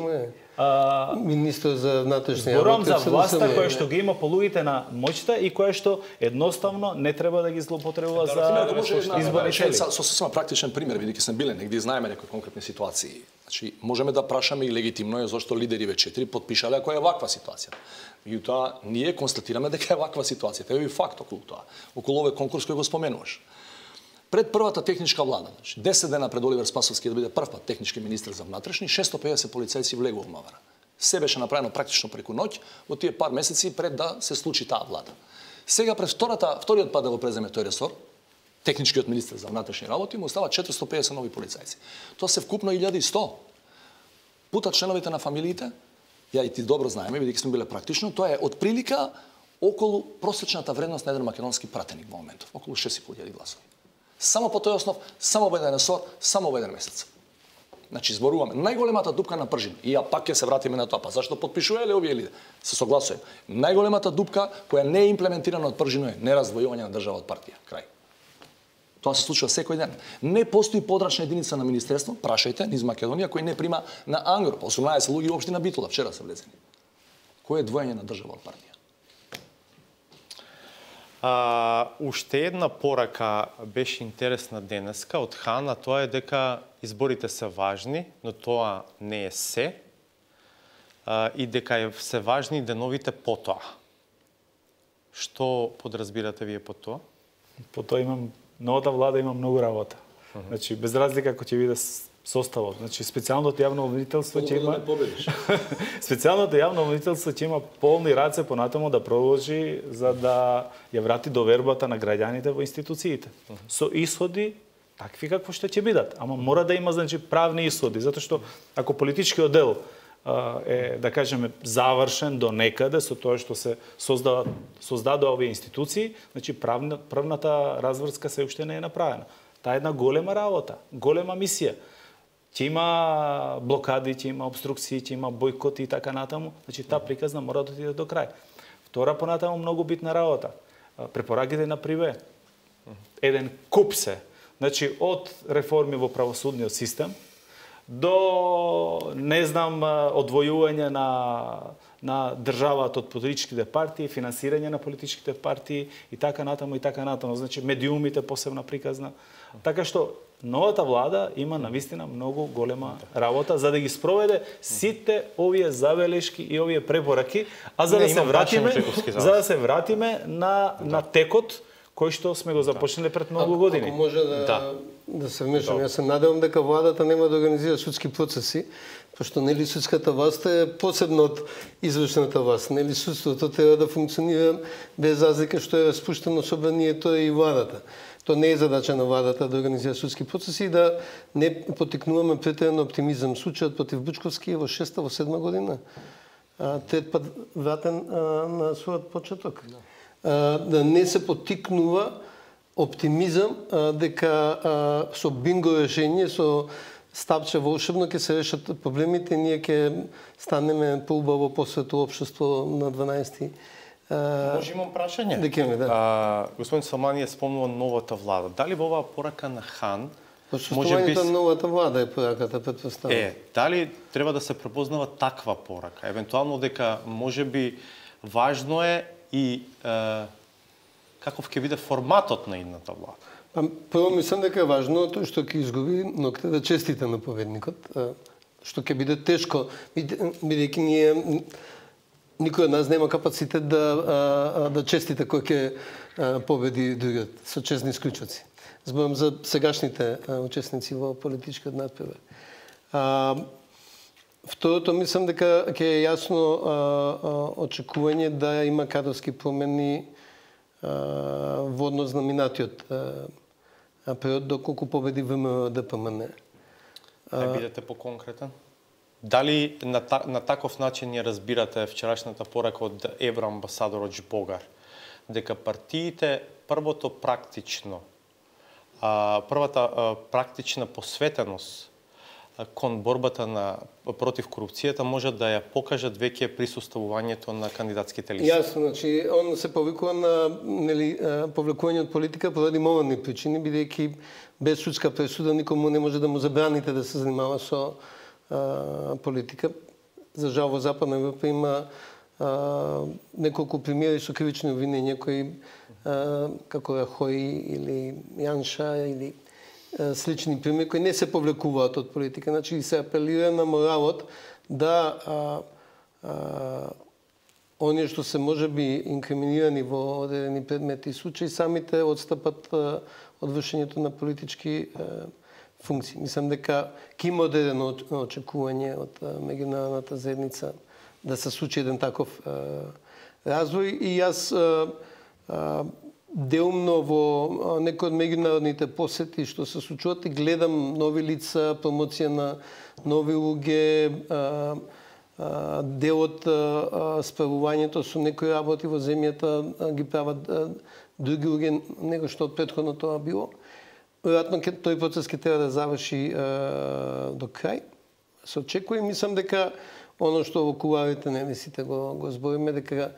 Speaker 6: а, министр за внатрешни
Speaker 4: работи. Зборам за власта која што ги има полугите на моќта и која што едноставно не треба да ги злоупотребува за изборни цели.
Speaker 5: Со сосема практичен пример, бидејќи сме биле негде и знаеме некои конкретни ситуации. Значи, можеме да прашаме и легитимно е зашто лидери ве четири потпишале ако е ваква ситуација. Меѓутоа, ние констатираме дека е ваква ситуација. Тоа е факт околу тоа. Околу овој конкурс кој го споменуваш. Пред првата техничка влада, значи десет дена пред Оливер Спасовски да биде прв пат технички министер за внатрешни, шестстотини и педесет полицајци влегува во МВР. Се беше направено практично преку ноќ во тие пар месеци пред да се случи таа влада. Сега пред втората, вториот пат да го преземе тој ресор, техничкиот министер за внатрешни работи му остава четиристотини и педесет нови полицајци. Тоа се вкупно илјада и сто. Пута членовите на фамилиите, ја и ти добро знаеме, бидејќи сме биле практично, тоа е од прилика околу просечната вредност на еден македонски пратеник во моментов, околу шест и пол илјади гласови. Само по тој основ, само во еден ресор, само во еден месец. Значи, зборуваме најголемата дупка на пржин. И ја пак ќе се вратиме на тоа, па зашто потпишувале овие лиде? Се согласувам. Најголемата дупка која не е имплементирана од пржино е нераздвојување на држава од партија. Крај. Тоа се случува секој ден. Не постои подрачна единица на министерство, прашајте, низ Македонија, кој не прима на ангро. осумнаесет луѓе во општина Битола вчера се влезени. Кој е двоење на држава од партија?
Speaker 1: А, уште една порака беше интересна денеска од Хана, тоа е дека изборите се важни, но тоа не е се, а, и дека е се важни деновите потоа. Што подразбирате вие по тоа?
Speaker 4: По тоа имам, новата влада има многу работа. Uh -huh. Значи, без разлика ако ќе биде составот. Значи, специјалното јавно обвинителство ќе има специјалното јавно обвинителство ќе има полни раце понатаму да продолжи за да ја врати довербата на граѓаните во институциите. Uh -huh. Со исходи такви какво што ќе бидат, ама мора да има значи правни исходи, затоа што ако политичкиот дел е, да кажеме, завршен до некаде со тоа што се создава создадоа овие институции, значи правна, правната разврска се уште не е направена. Таа е една голема работа, голема мисија. Ќе има блокади, ќе има обструкции, ќе има бојкоти и така натаму, значи таа приказна мора да отиде до крај. Втора понатаму многу битна работа. Препораките на Приве. Еден куп се. Значи од реформи во правосудниот систем до, не знам, одвојување на на државата од политичките партии, финансирање на политичките партии и така натаму и така натаму, значи медиумите посебна приказна. Така што новата влада има навистина многу голема работа за да ги спроведе сите овие забелешки и овие препораки, а за да се вратиме за да се вратиме на на текот кој што сме го започнале пред многу години.
Speaker 6: Ако може да да, да се вмешам, јас се надевам дека владата нема да организира судски процеси, пошто нели судската власт е посебно од извршната власт. Нели судството треба да функционира без разлика што е распуштено собранието и владата. Тоа не е задача на владата да организира судски процеси и да не потикнуваме претеран оптимизам. Случајот против Бучковски е во шеста, во седма година. Трет пат вратен а, на својот почеток. А, да не се потикнува оптимизам а, дека а, со бинго решение, со стапче волшебно ќе се решат проблемите, ние ќе станеме поубаво посвето општество на дванаесети
Speaker 1: Може имам прашање?
Speaker 6: Декември, да.
Speaker 1: А, господин Салмани е спомнува новата влада. Дали во оваа порака на Хан
Speaker 6: Посуштувањето на новата влада е пораката, предпоставам.
Speaker 1: Е, дали треба да се препознава таква порака? Евентуално дека можеби важно е и е, каков ќе биде форматот на идната влада?
Speaker 6: Па, прво мислам дека е важно тоа што ќе изгуби ноќта да честите на победникот, што ќе биде тешко, бидејќи ние никој од нас нема капацитет да да честите кој ќе победи другиот со честни исклучоци. Зборам за сегашните учесници во политичкиот надпревар. Второто, мислам дека ќе е јасно очекување да има кадрски промени во однос на минатиот период доколку победи ВМРО-ДПМН.
Speaker 1: Не бидете поконкретен? Дали на, та, на таков начин ја разбирате вчерашната порака од евроамбасадорот Жбогар, дека партиите првото практично, а, првата а, практична посветеност кон борбата на против корупцијата може да ја покажат веќе присуствувањето на кандидатските листи?
Speaker 6: Јасно, значи он се повикува на нели повлекување од политика поради морални причини, бидејќи без судска пресуда никому не може да му забраните да се занимава со а, политика. За жал во Западна Европа има а, неколку примери со кривични обвинења кои а, како Рахои или Јанша или слични примери кои не се повлекуваат од политика. Значи се апелира на моралот да а, а, оние што се можеби инкриминирани во одредени предмети и случаи самите отстапат а, од вршењето на политички а, функции. Мислам дека ќе има одредено очекување од а, меѓународната заедница да се случи еден таков а, развој и јас а, а, деумно во некои од меѓународните посети што се случуваат и гледам нови лица, промоција на нови луѓе, дел од справувањето со некои работи во земјата ги прават други луѓе него што од претходно тоа било. Веројатно тој процес ќе треба да заврши до крај. Се очекува и мислам дека оно што во кулуарите не сите го, го збориме, дека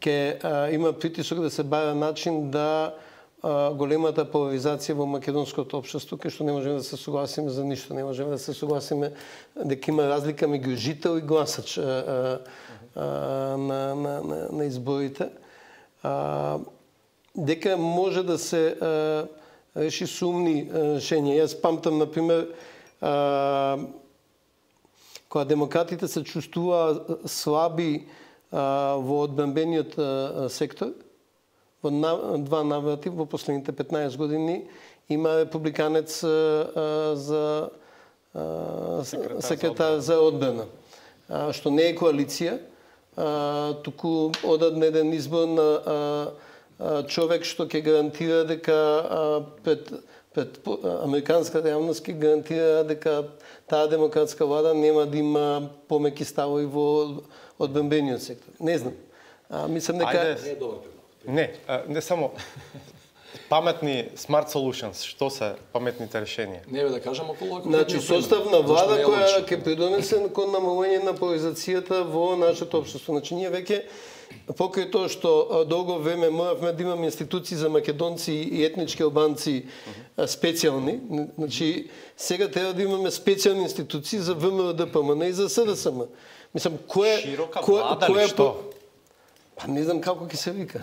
Speaker 6: ќе има притисок да се бара начин да а, големата поларизација во македонското општество, кај што не можеме да се согласиме за ништо, не можеме да се согласиме дека има разлика меѓу жител и гласач а, а, а, на, на, на, на изборите. А, дека може да се а, реши сумни решенија. Јас памтам, например, а, кога демократите се чувствуваа слаби во одбранбениот сектор, во два наврати во последните петнаесет години има републиканец за секретар, секретар за одбрана, што не е коалиција, туку одаден еден избор на човек што ќе гарантира дека пред пред американската јавност ќе гарантира дека таа демократска влада нема да има помеки ставови во одбранбениот сектор. Не знам. А, мислам дека
Speaker 1: Ајде, не е добар предлог. Не, а, не само паметни smart solutions, што се паметните решенија?
Speaker 5: Не бе да кажам околу околу.
Speaker 6: Значи состав на влада која ќе придонесе кон намалување на поларизацијата во нашето општество. Значи ние веќе покрај тоа што долго време моравме да имаме институции за македонци и етнички албанци специјални, значи сега треба да имаме специјални институции за ВМРО-ДПМН и за СДСМ. Мислам, кој
Speaker 1: широка влада ли што?
Speaker 6: Па не знам како ќе се вика.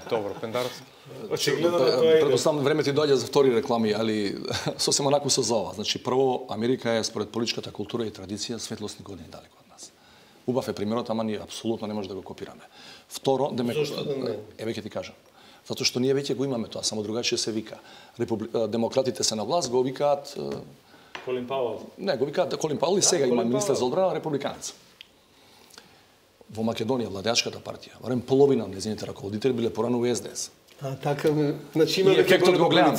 Speaker 1: Добро, Пендаровски.
Speaker 4: Очигледно да тоа е.
Speaker 5: Предпоставам време ти доаѓа за втори реклами, али сосема онаку со зова. Значи прво Америка е според политичката култура и традиција светлосни години далеко од нас. Убав е примерот, ама ние апсолутно не може да го копираме. Второ, демек...
Speaker 6: Зошто да не?
Speaker 5: Еве ќе ти кажам. Затоа што ние веќе го имаме тоа, само другачие се вика. Републи... Демократите се на власт, го викаат
Speaker 4: Колин Пауел.
Speaker 5: Не, го викаат Колин Пауел и сега има министер за одбрана републиканец. Во Македонија владеачката партија, барем половина од нејзините раководители биле порано во С Д С.
Speaker 6: А така, значи има
Speaker 5: ефектот го гледам.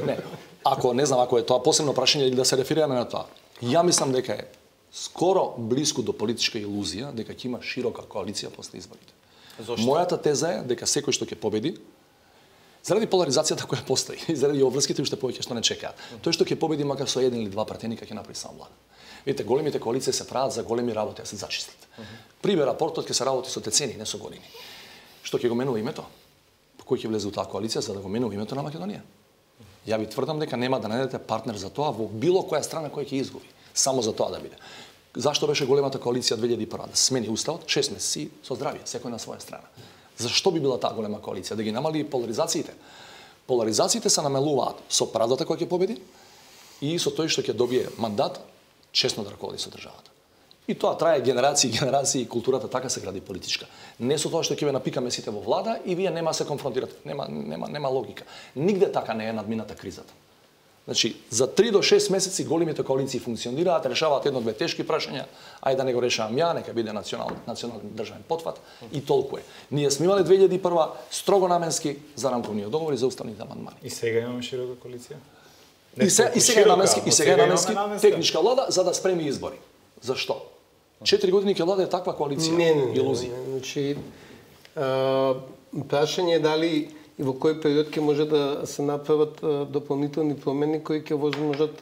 Speaker 5: Не, ако не знам ако е тоа посебно прашање или да се реферираме на тоа. Ја мислам дека е скоро блиску до политичка илузија дека ќе има широка коалиција после изборите.
Speaker 1: Зошто?
Speaker 5: Мојата теза е дека секој што ќе победи Заради поларизацијата која постои и заради обврските уште повеќе што не чекаат. Тој што ќе победи макар со еден или два пратеника ќе направи сам влада. Видите, големите коалиции се прават за големи работи, а се зачистат. Пример, рапортот ќе се работи со децени, не со години. Што ќе го менува името? Кој ќе влезе у таа коалиција за да го менува името на Македонија? Ја ви тврдам дека нема да најдете партнер за тоа во било која страна која ќе изгуби, само за тоа да биде. Зашто беше големата коалиција две илјади и прва? Да смени уставот, шест месеци со здравје, секој на своја страна. Зашто би била таа голема коалиција? Да ги намали поларизациите? Поларизациите се намалуваат со правдата која ќе победи и со тој што ќе добие мандат честно да раководи со државата. И тоа трае генерации и генерации, културата така се гради политичка. Не со тоа што ќе ве напикаме сите во влада и вие нема се конфронтирате, нема нема нема логика. Нигде така не е надмината кризата. Значи, за три до шест месеци големите коалиции функционираат, решаваат едно-две тешки прашања, ајде да не го решавам ја, нека биде национален национален државен потфат и толку е. Ние сме имале две илјади и прва строго наменски за рамковниот договор и за уставните амандмани.
Speaker 4: И сега имаме широка коалиција?
Speaker 5: И, се, и сега е наменски, и сега е наменски техничка влада за да спреми избори. Зашто? Четири години ќе владее таква коалиција.
Speaker 6: Не, не,
Speaker 5: илузија.
Speaker 6: Значи, прашање е дали и во кој период ќе може да се направат дополнителни промени кои ќе возможат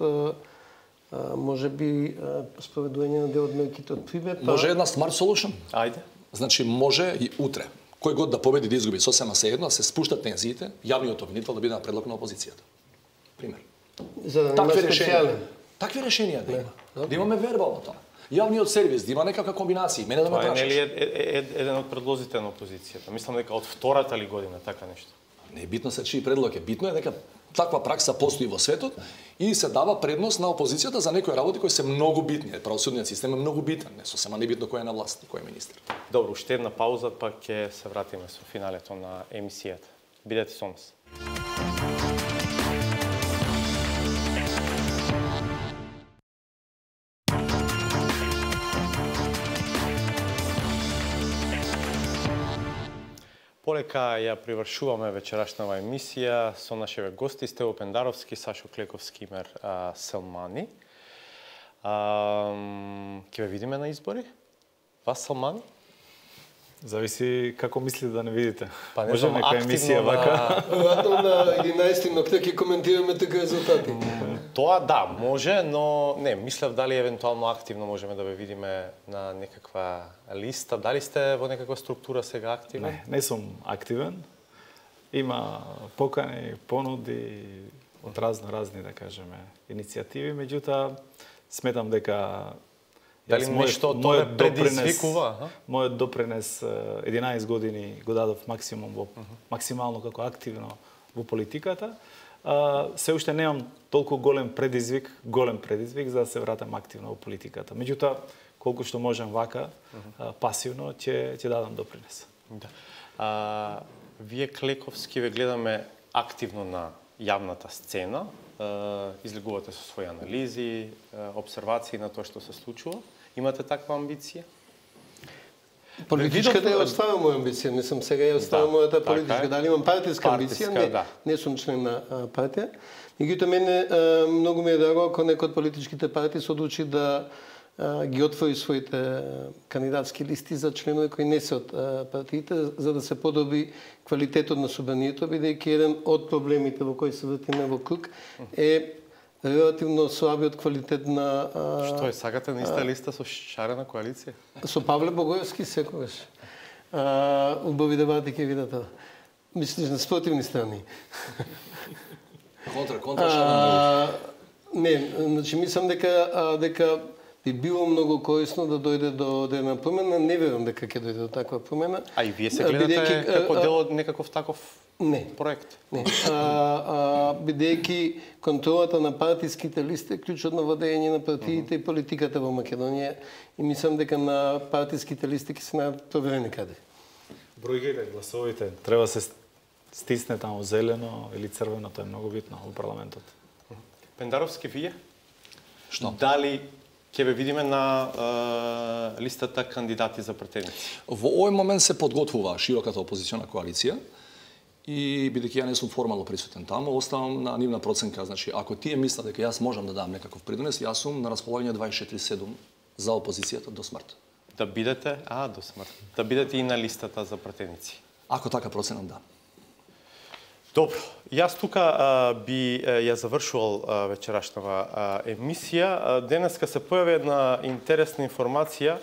Speaker 6: може би спроведување на дел од мерките од пример.
Speaker 5: Може една smart solution.
Speaker 1: Ајде.
Speaker 5: Значи може и утре кој год да победи да изгуби сосема се едно, да се спуштат тензиите, јавниот обвинител да биде на предлог на опозицијата. Пример.
Speaker 6: За да
Speaker 5: Такви
Speaker 6: нема специјален.
Speaker 5: Такви решенија да има. Да имаме верба во тоа. Јавниот сервис да има некаква комбинација, мене да ме
Speaker 1: Тоа е
Speaker 5: прашаш.
Speaker 1: нели еден од предлозите на опозицијата. Мислам дека од втората ли година така нешто.
Speaker 5: Не е битно се чии предлог е, битно е дека таква пракса постои во светот и се дава предност на опозицијата за некои работи кои се многу битни. Правосудниот систем е многу битен, не сосема небитно кој е на власт и кој е министер.
Speaker 1: Добро, уште една пауза, па ќе се вратиме со финалето на емисијата. Бидете со нас. Полека ја привршуваме вечерашнава емисија со нашите гости Стево Пендаровски, Сашо Клековски, Имер а, Селмани. А, ќе ве видиме на избори? Вас, Селмани?
Speaker 4: Зависи како мислите да не видите.
Speaker 1: Па не
Speaker 4: Може
Speaker 1: знам,
Speaker 4: нека емисија
Speaker 1: активно
Speaker 4: вака.
Speaker 6: Веројатно на единаесети ноќта ќе коментираме така резултати.
Speaker 1: Тоа да, може, но не, мислев дали евентуално активно можеме да ве видиме на некаква листа. Дали сте во некаква структура сега активни?
Speaker 4: Не, не сум активен. Има покани, понуди од разно разни, да кажеме, иницијативи, меѓутоа сметам дека
Speaker 1: Дали нешто од тоа предизвикува?
Speaker 4: Мојот допринес единаесет години го дадов максимум во максимално како активно во политиката. Uh, се уште немам толку голем предизвик, голем предизвик за да се вратам активно во политиката. Меѓутоа, колку што можам вака, uh, пасивно, ќе ќе дадам допринес.
Speaker 1: Да. А, вие Клековски ве гледаме активно на јавната сцена, а, излегувате со своји анализи, а, обсервации на тоа што се случува. Имате таква амбиција?
Speaker 6: Политичката ја остава моја амбиција, не сум сега ја остава
Speaker 1: Да,
Speaker 6: мојата
Speaker 1: така
Speaker 6: политичка.
Speaker 1: е.
Speaker 6: Дали имам партиска амбиција?
Speaker 1: Партиска,
Speaker 6: Не,
Speaker 1: да.
Speaker 6: не сум член на а, партија. Меѓутоа мене а, многу ми е драго ако некој од политичките партии се одлучи да а, ги отвори своите а, кандидатски листи за членови кои не се од а, партиите, за да се подобри квалитетот на собранието, бидејќи еден од проблемите во кои се вртиме во круг е релативно слабиот квалитет на... А,
Speaker 1: Што е, сакате на иста листа со шарена коалиција?
Speaker 6: Со Павле Богоевски секогаш. А, убави дебати ќе видат тоа. Мислиш на спротивни страни.
Speaker 5: Контра, контра
Speaker 6: А, не, значи мислам дека а, дека би било многу корисно да дојде до една промена. Не верувам дека ќе дојде до таква промена.
Speaker 1: А и вие се гледате
Speaker 6: Бидејќи,
Speaker 1: како
Speaker 6: а,
Speaker 1: дел од некаков таков
Speaker 6: Не.
Speaker 1: проект?
Speaker 6: Не. А, а, бидејќи контролата на партиските листи е клучот на владење на партиите и политиката во Македонија и мислам дека на партиските листи ќе се најдат проверени каде.
Speaker 4: Бројките, гласовите, треба се стисне таму зелено или црвено, тоа е многу битно во парламентот.
Speaker 1: Пендаровски, вие?
Speaker 5: Што?
Speaker 1: Дали ќе ве видиме на е, листата кандидати за претеници?
Speaker 5: Во овој момент се подготвува широката опозициона коалиција и бидејќи ја не сум формално присутен таму, оставам на нивна проценка. Значи, ако тие мислат дека јас можам да дам некаков придонес, јас сум на располагање дваесет и четири седум за опозицијата до смрт.
Speaker 1: Да бидете, а, до смрт. Да бидете и на листата за претеници.
Speaker 5: Ако така проценам, да.
Speaker 1: Добро, јас тука а, би а, ја завршувал а, вечерашнава а, емисија. А, денеска се појави една интересна информација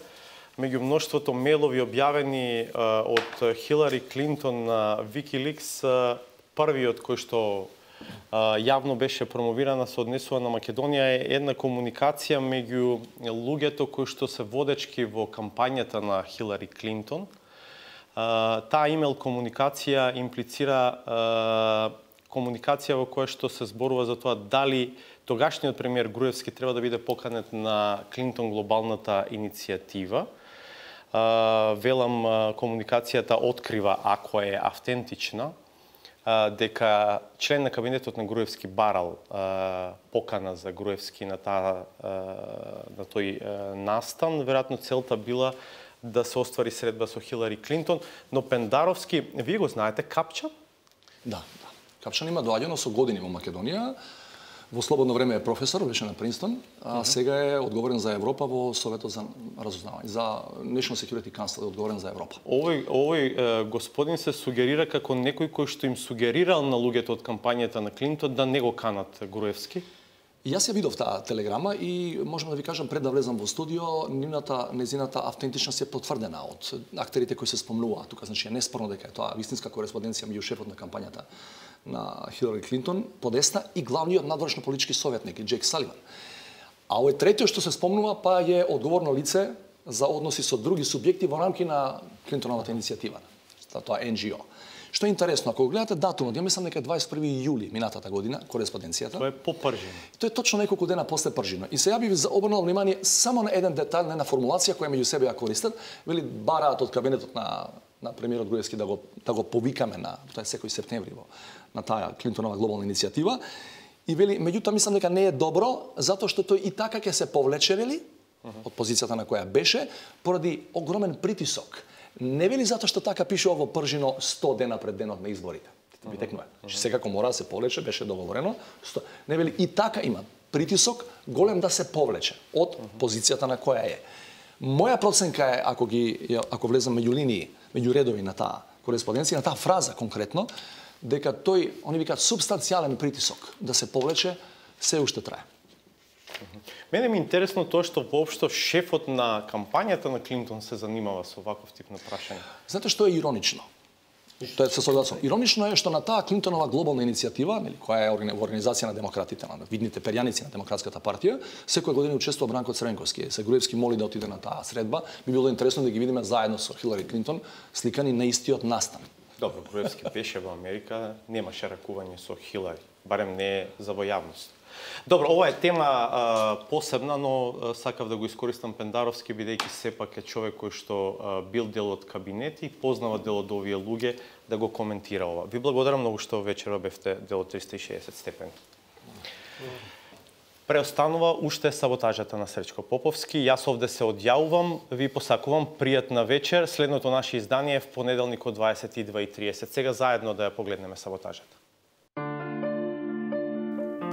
Speaker 1: меѓу мноштвото мейлови објавени а, од Хилари Клинтон на Wikileaks, а, првиот кој што а, јавно беше промовирана со однесува на Македонија е една комуникација меѓу луѓето кои што се водечки во кампањата на Хилари Клинтон. Uh, таа имейл комуникација имплицира uh, комуникација во која што се зборува за тоа дали тогашниот премиер Груевски треба да биде поканет на Клинтон глобалната иницијатива. Uh, велам, uh, комуникацијата открива, ако е автентична, uh, дека член на кабинетот на Груевски барал uh, покана за Груевски на, таа, uh, на тој uh, настан. Веројатно целта била да се оствари средба со Хилари Клинтон, но Пендаровски, вие го знаете, Капчан?
Speaker 5: Да, да. Капчан има доаѓано со години во Македонија. Во слободно време е професор, беше на Принстон, а сега е одговорен за Европа во Советот за разузнавање, за National Security Council е одговорен за Европа.
Speaker 1: Овој овој господин се сугерира како некој кој што им сугерирал на луѓето од кампањата на Клинтон да не го канат Груевски.
Speaker 5: Јас ја видов таа телеграма и можам да ви кажам пред да влезам во студио, нивната незината автентичност е потврдена од актерите кои се спомнуваат. Тука значи е неспорно дека е тоа вистинска кореспонденција меѓу шефот на кампањата на Хилари Клинтон, подесна и главниот надворешно политички советник Џејк Саливан. А овој третиот што се спомнува па е одговорно лице за односи со други субјекти во рамки на Клинтоновата иницијатива, тоа Ен Џи О. Што е интересно, ако гледате датумот, ја мислам дека дваесет и први јули минатата година, кореспонденцијата.
Speaker 1: Тоа е по Пржино.
Speaker 5: Тоа е точно неколку дена после Пржино. И сега би ви обрнал внимание само на еден детај, на една формулација која меѓу себе ја користат, вели бараат од кабинетот на на премиерот Груевски да го да го повикаме на тоа е секој септември во на таа Клинтонова глобална иницијатива. И вели, меѓутоа мислам дека не е добро, затоа што тој и така ќе се повлече, вели, од позицијата на која беше, поради огромен притисок. Не вели затоа што така пише во Пржино сто дена пред денот на изборите. Ви текнува. Значи секако мора да се повлече, беше договорено. сто Не вели и така има притисок голем да се повлече од позицијата на која е. Моја проценка е, ако ги ако влезам меѓу линии, меѓу редови на таа кореспонденција, на таа фраза конкретно, дека тој, они викаат субстанцијален притисок да се повлече, се уште трае.
Speaker 1: Мене ми е интересно тоа што воопшто шефот на кампањата на Клинтон се занимава со ваков тип на прашање.
Speaker 5: Знаете што е иронично? Тоа е се согласувам. Иронично е што на таа Клинтонова глобална иницијатива, нели, која е организација на демократите, на видните перјаници на Демократската партија, секоја година учествува Бранко Црвенковски. Се Груевски моли да отиде на таа средба. Би било интересно да ги видиме заедно со Хилари Клинтон сликани на истиот настан.
Speaker 1: Добро, Груевски беше во Америка, немаше ракување со Хилари, барем не за во јавност. Добро, ова е тема а, посебна, но а, сакав да го искористам Пендаровски, бидејќи сепак е човек кој што а, бил дел од кабинет и познава дел од овие луѓе, да го коментира ова. Ви благодарам многу што вечера бевте дел од триста и шеесет степени. Преостанува уште саботажата на Сречко Поповски. Јас овде се одјавувам, ви посакувам пријатна вечер. Следното наше издание е в понеделник од дваесет и два и триесет. Сега заедно да ја погледнеме саботажата.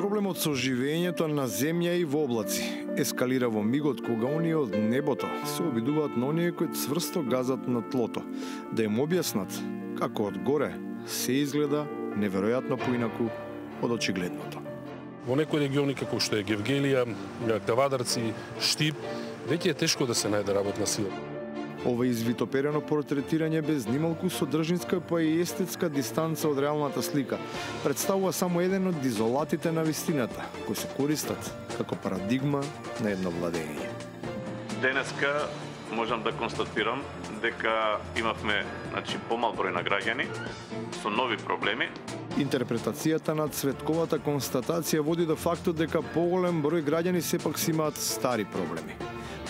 Speaker 9: Проблемот со живењето на земја и во облаци ескалира во мигот кога оние од небото се обидуваат на оние кои цврсто газат на тлото, да им објаснат како од горе се изгледа неверојатно поинаку од очигледното.
Speaker 10: Во некои региони како што е Гевгелија, Кавадарци, Штип, веќе е тешко да се најде работна сила.
Speaker 9: Ова извитоперено портретирање без нималку содржинска па и естетска дистанца од реалната слика представува само еден од дизолатите на вистината, кои се користат како парадигма на едно владење.
Speaker 11: Денеска можам да констатирам дека имавме, значи, помал број на граѓани со нови проблеми.
Speaker 9: Интерпретацијата на Цветковата констатација води до фактот дека поголем број граѓани сепак си имаат стари проблеми.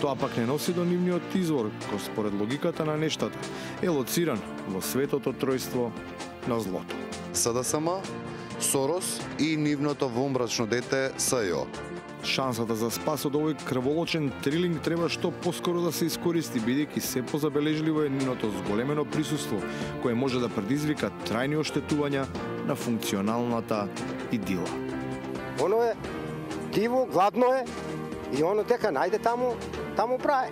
Speaker 9: Тоа пак не носи до нивниот извор, кој според логиката на нештата е лоциран во светото тројство на злото.
Speaker 12: С Д С М, Сорос и нивното вомбрачно дете С Ј О.
Speaker 9: Шансата за спас од овој крволочен трилинг треба што поскоро да се искористи, бидејќи се позабележливо е нивното зголемено присуство, кое може да предизвика трајни оштетувања на функционалната идила.
Speaker 13: Оно е диво, гладно е и оно дека најде таму, таму прае.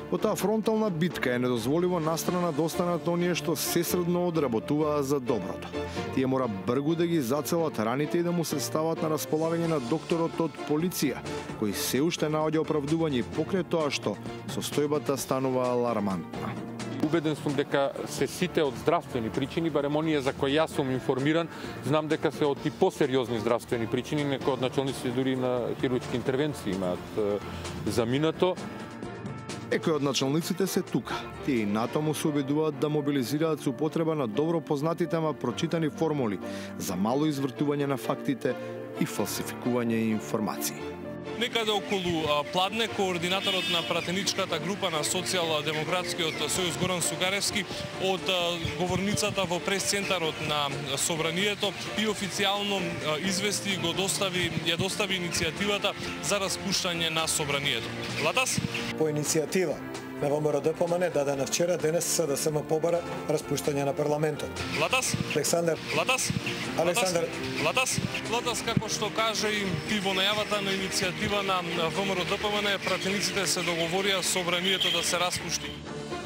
Speaker 9: Во таа фронтална битка е недозволиво настрана да останат оние што сесредно одработуваа за доброто. Тие мора бргу да ги зацелат раните и да му се стават на располагање на докторот од полиција, кој се уште наоѓа оправдување покрај тоа што состојбата станува алармантна.
Speaker 13: Убеден сум дека се сите од здравствени причини, барем оние за кои јас сум информиран, знам дека се од и посериозни здравствени причини, некои од началниците дури на хируршки интервенции имаат заминато.
Speaker 9: Некои од началниците се тука. Тие и натаму се обидуваат да мобилизираат со употреба на добро познатите, ама прочитани формули за мало извртување на фактите и фалсификување информации.
Speaker 14: Некаде околу Пладне, координаторот на пратеничката група на Социјалдемократскиот сојуз Горан Сугаревски од говорницата во прес-центарот на Собранието и официјално извести и го достави, ја достави иницијативата за распуштање на Собранието. Владас?
Speaker 15: По иницијатива на ВМРО-ДПМН дадена вчера, денес СДСМ побара распуштање на парламентот.
Speaker 14: Владас?
Speaker 15: Александар?
Speaker 14: Владас?
Speaker 15: Александар?
Speaker 14: Владас? Владас, како што кажа и ти во најавата на иницијатива на ВМРО-ДПМН, пратениците се договорија Собранието да се распушти.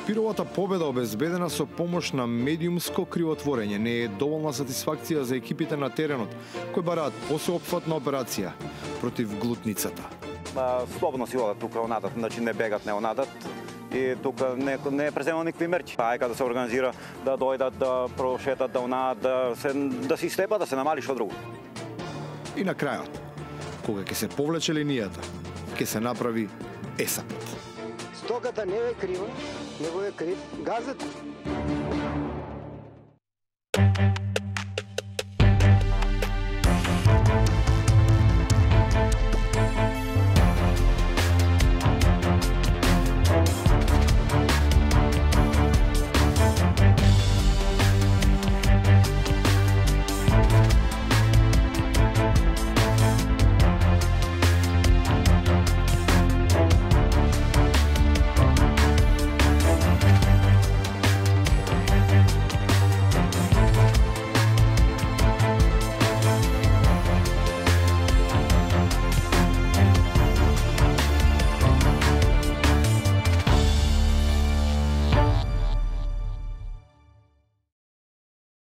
Speaker 9: Пировата победа обезбедена со помош на медиумско кривотворење не е доволна сатисфакција за екипите на теренот, кои бараат посеопфатна операција против глутницата.
Speaker 16: Слободно си одат тука онадат, значи не бегат, не онадат. И тука не, не е преземал никакви мерки. Ајка да се организира, да дојдат, да прошетат, да онадат, да се, да се истепа, да се намали што друго.
Speaker 9: И на крајот, кога ќе се повлече линијата, ќе се направи есапот.
Speaker 17: Стоката не е крива, него е крив газът.